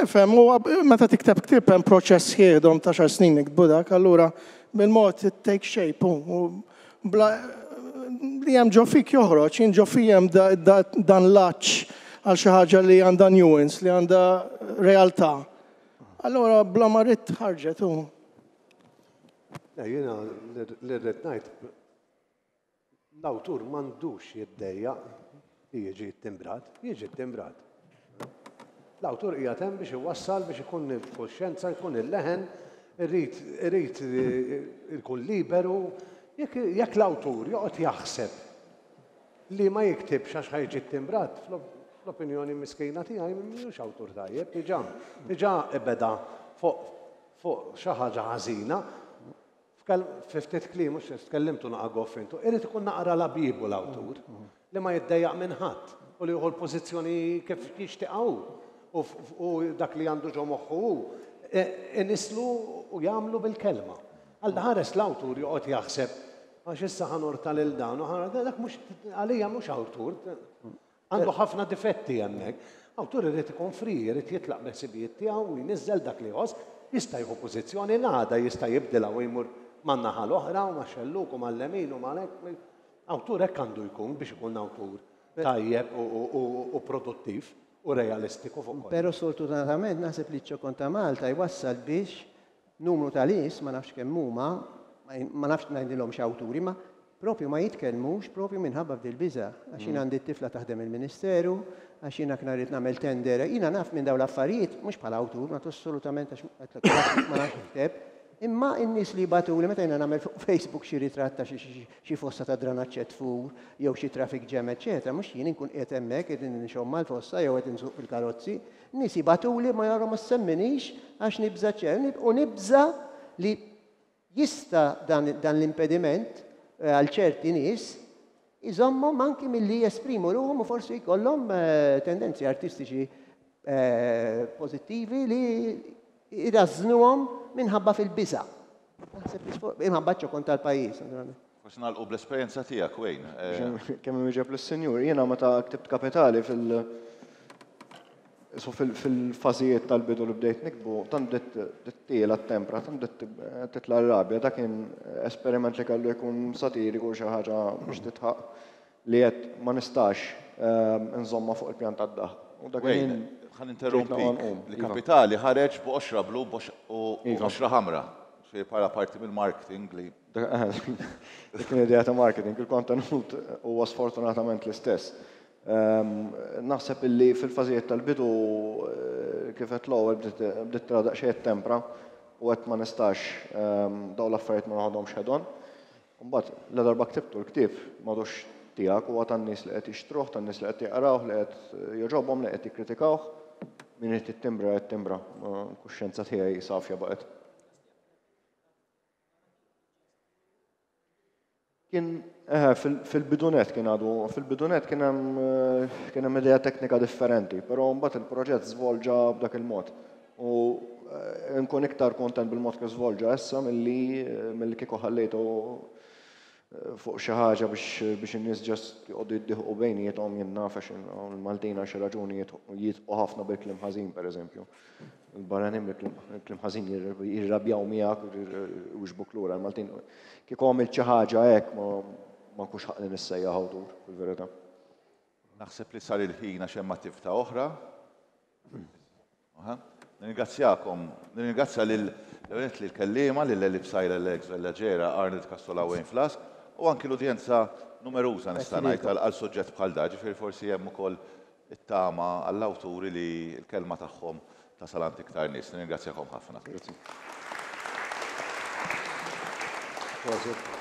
Ifhem, huwa meta tikteb ktieb hemm proċess sħiħ dom ta' xar snin niktbu dak, allura bil-mod it take shape u bla li hemm ġo fik joħroġ, jien ġo fija hemm dan l-għatx għal xi ħaġa li għandha nuance, li għandha realtà. Allura bla ma ridt ħarġet u. Jiena li rrid ngħid L-awtur m'għandux jiddejjaq li jiġi ttimbrat, jiġi ttimbrat. L-awtur qiegħed hemm biex iwassal, biex ikun il-kuxjenza, jkun il-leħen, irid irid ikun liberu. Jekk jekk l-awtur joqgħod jaħseb li ma jiktibx għax ħa jiġi ttimbrat, fl-opinjoni miskina tiegħi mhux awtur tajjeb, diġà diġà beda fuq fuq xi ħaġa ħażina. Fi ftit kliem, mhux tkellimtu naqa' goff intu, irid ikun naqra labibu l-awtur, li ma jiddejjaq minn ħadd u li jieħu l-pożizzjoni kif jixtieqha hu u dak li għandu ġo moħħu hu inisslu u jagħmlu bil-kelma. Alla ħares l-awtur joqgħod jaħseb għax issa ħa norta lil dan u ħa dak mhux għalija mhux awtur. Għandu ħafna difetti hemmhekk. Awtur irid ikun free, irid jitlaq bil-ħsibijiet tiegħu u jniżżel dak li jħoss, jista' jieħu pożizzjoni l-għada jista' jibdilha u jmur man-naħa l-oħra u max-xellug u mal-lemin u mal-hekk. Awtur hekk għandu jkun biex ikun awtur tajjeb u produttiv u realistiku fuq kollox. Però sfortunatament naħseb li ċ-ċokon ta' Malta jwassal biex Numru ta' nies, ma nafx kemm huma, ma nafx ngħidilhomx awturi, ma propju ma jitkellmux propju minħabba f'dil-biża'. Għax jien għandi t-tifla taħdem il-Ministeru, għax jiena kna rrid nagħmel tender, jiena naf minn dawn l-affarijiet, mhux bħala awtur, ma assolutament għax ma nafx nikteb, imma n-nies li jibgħatuli meta jiena nagħmel fuq Facebook xi ritratt ta' xi fossa ta' dranaġġ qed tfur jew xi traffic jam eċċetera, mhux jien inkun qiegħed hemmhekk qed inxomm mal-fossa jew qed insuq fil-karozzi, Nies jibagħtuli ma jara ma ssemminix għax nibża' ċer u nibża' li jista' dan, dan l-impediment eh, għal ċerti nies iżommhom anki milli jesprimu ruħhom u forsi jkollhom eh, tendenzi artistiċi eh, pożittivi li jrażżnuhom minħabba fil-biża'. Naħseb li imħabba ċokon tal-pajjiż, naturalment. Forsi nagħlqu bl-esperjenza tiegħek, Wayne. Kemm inwieġeb lis-Sinjur, jiena meta ktibt Kapitali fil- so fil-fażijiet tal-bidu li bdejt niktbu, tant bdiet tiela t-tempra, tant bdiet titla' r-rabja, dak kien esperiment li kellu jkun satiriku xi ħaġa biex titħaq li għedt ma nistax inżommha fuq il-pjan tad-daħq. U dak il-ħin Ħa ninterrompik. Li Kapitali ħareġ b'qoxra blu u qoxra ħamra. Ġifieri bħala parti mill-marketing li. Dik kien idea ta' marketing, il-kontenut huwa sfortunatament l-istess. Naħseb illi fil-fażijiet tal-bidu kif għedt l-ewwel bdiet tara daqsxejn it-tempra u għedt ma nistax dawn l-affarijiet ma noħodhomx head on. Imbagħad, ladarba ktibtu l-ktieb, m'għadux tiegħek, huwa tan-nies li qed jixtruh, tan-nies li qed jaqrawh, li qed jogħġobhom, li qed jikkritikawh. Min irid jittimbra, jittimbra. Il-kuxjenza tiegħi safja baqgħet. Kien, eħe, fil-bidu nett kien għadu, fil-bidu nett kien hemm kien hemm idea teknika differenti, però mbagħad il-proġett żvolġa b'dak il-mod. U nkun iktar kontent bil-mod kif żvolġa issa milli milli kieku ħallejtu fuq xi ħaġa biex biex in-nies just joqogħdu jiddieħqu bejniethom jien naf għax il-Maltin għal xi raġuni jidħqu ħafna bil-kliem ħażin pereżempju. Il-barranin bil-kliem ħażin jirrabjaw miegħek u jixbuk lura. Il-Maltin kieku għamilt xi ħaġa hekk ma ma nkunx ħaqqni nissejjaħ awtur fil-verità. Naħseb li sar il-ħin għax hemm attività oħra. Nirringrazzjakom, nirringrazzja lil lill-kelliema, lil Ellie Psaila, Alex Vella Gera, Arnold Cassola Wayne Flask u anki l-udjenza numeruża nista' ngħid għal suġġett bħal da, ġifieri forsi hemm ukoll it-tama għall-awturi li l-kelma tagħhom tasal għand iktar nies. Nirringrazzjakom ħafna. Grazzi. Prosit.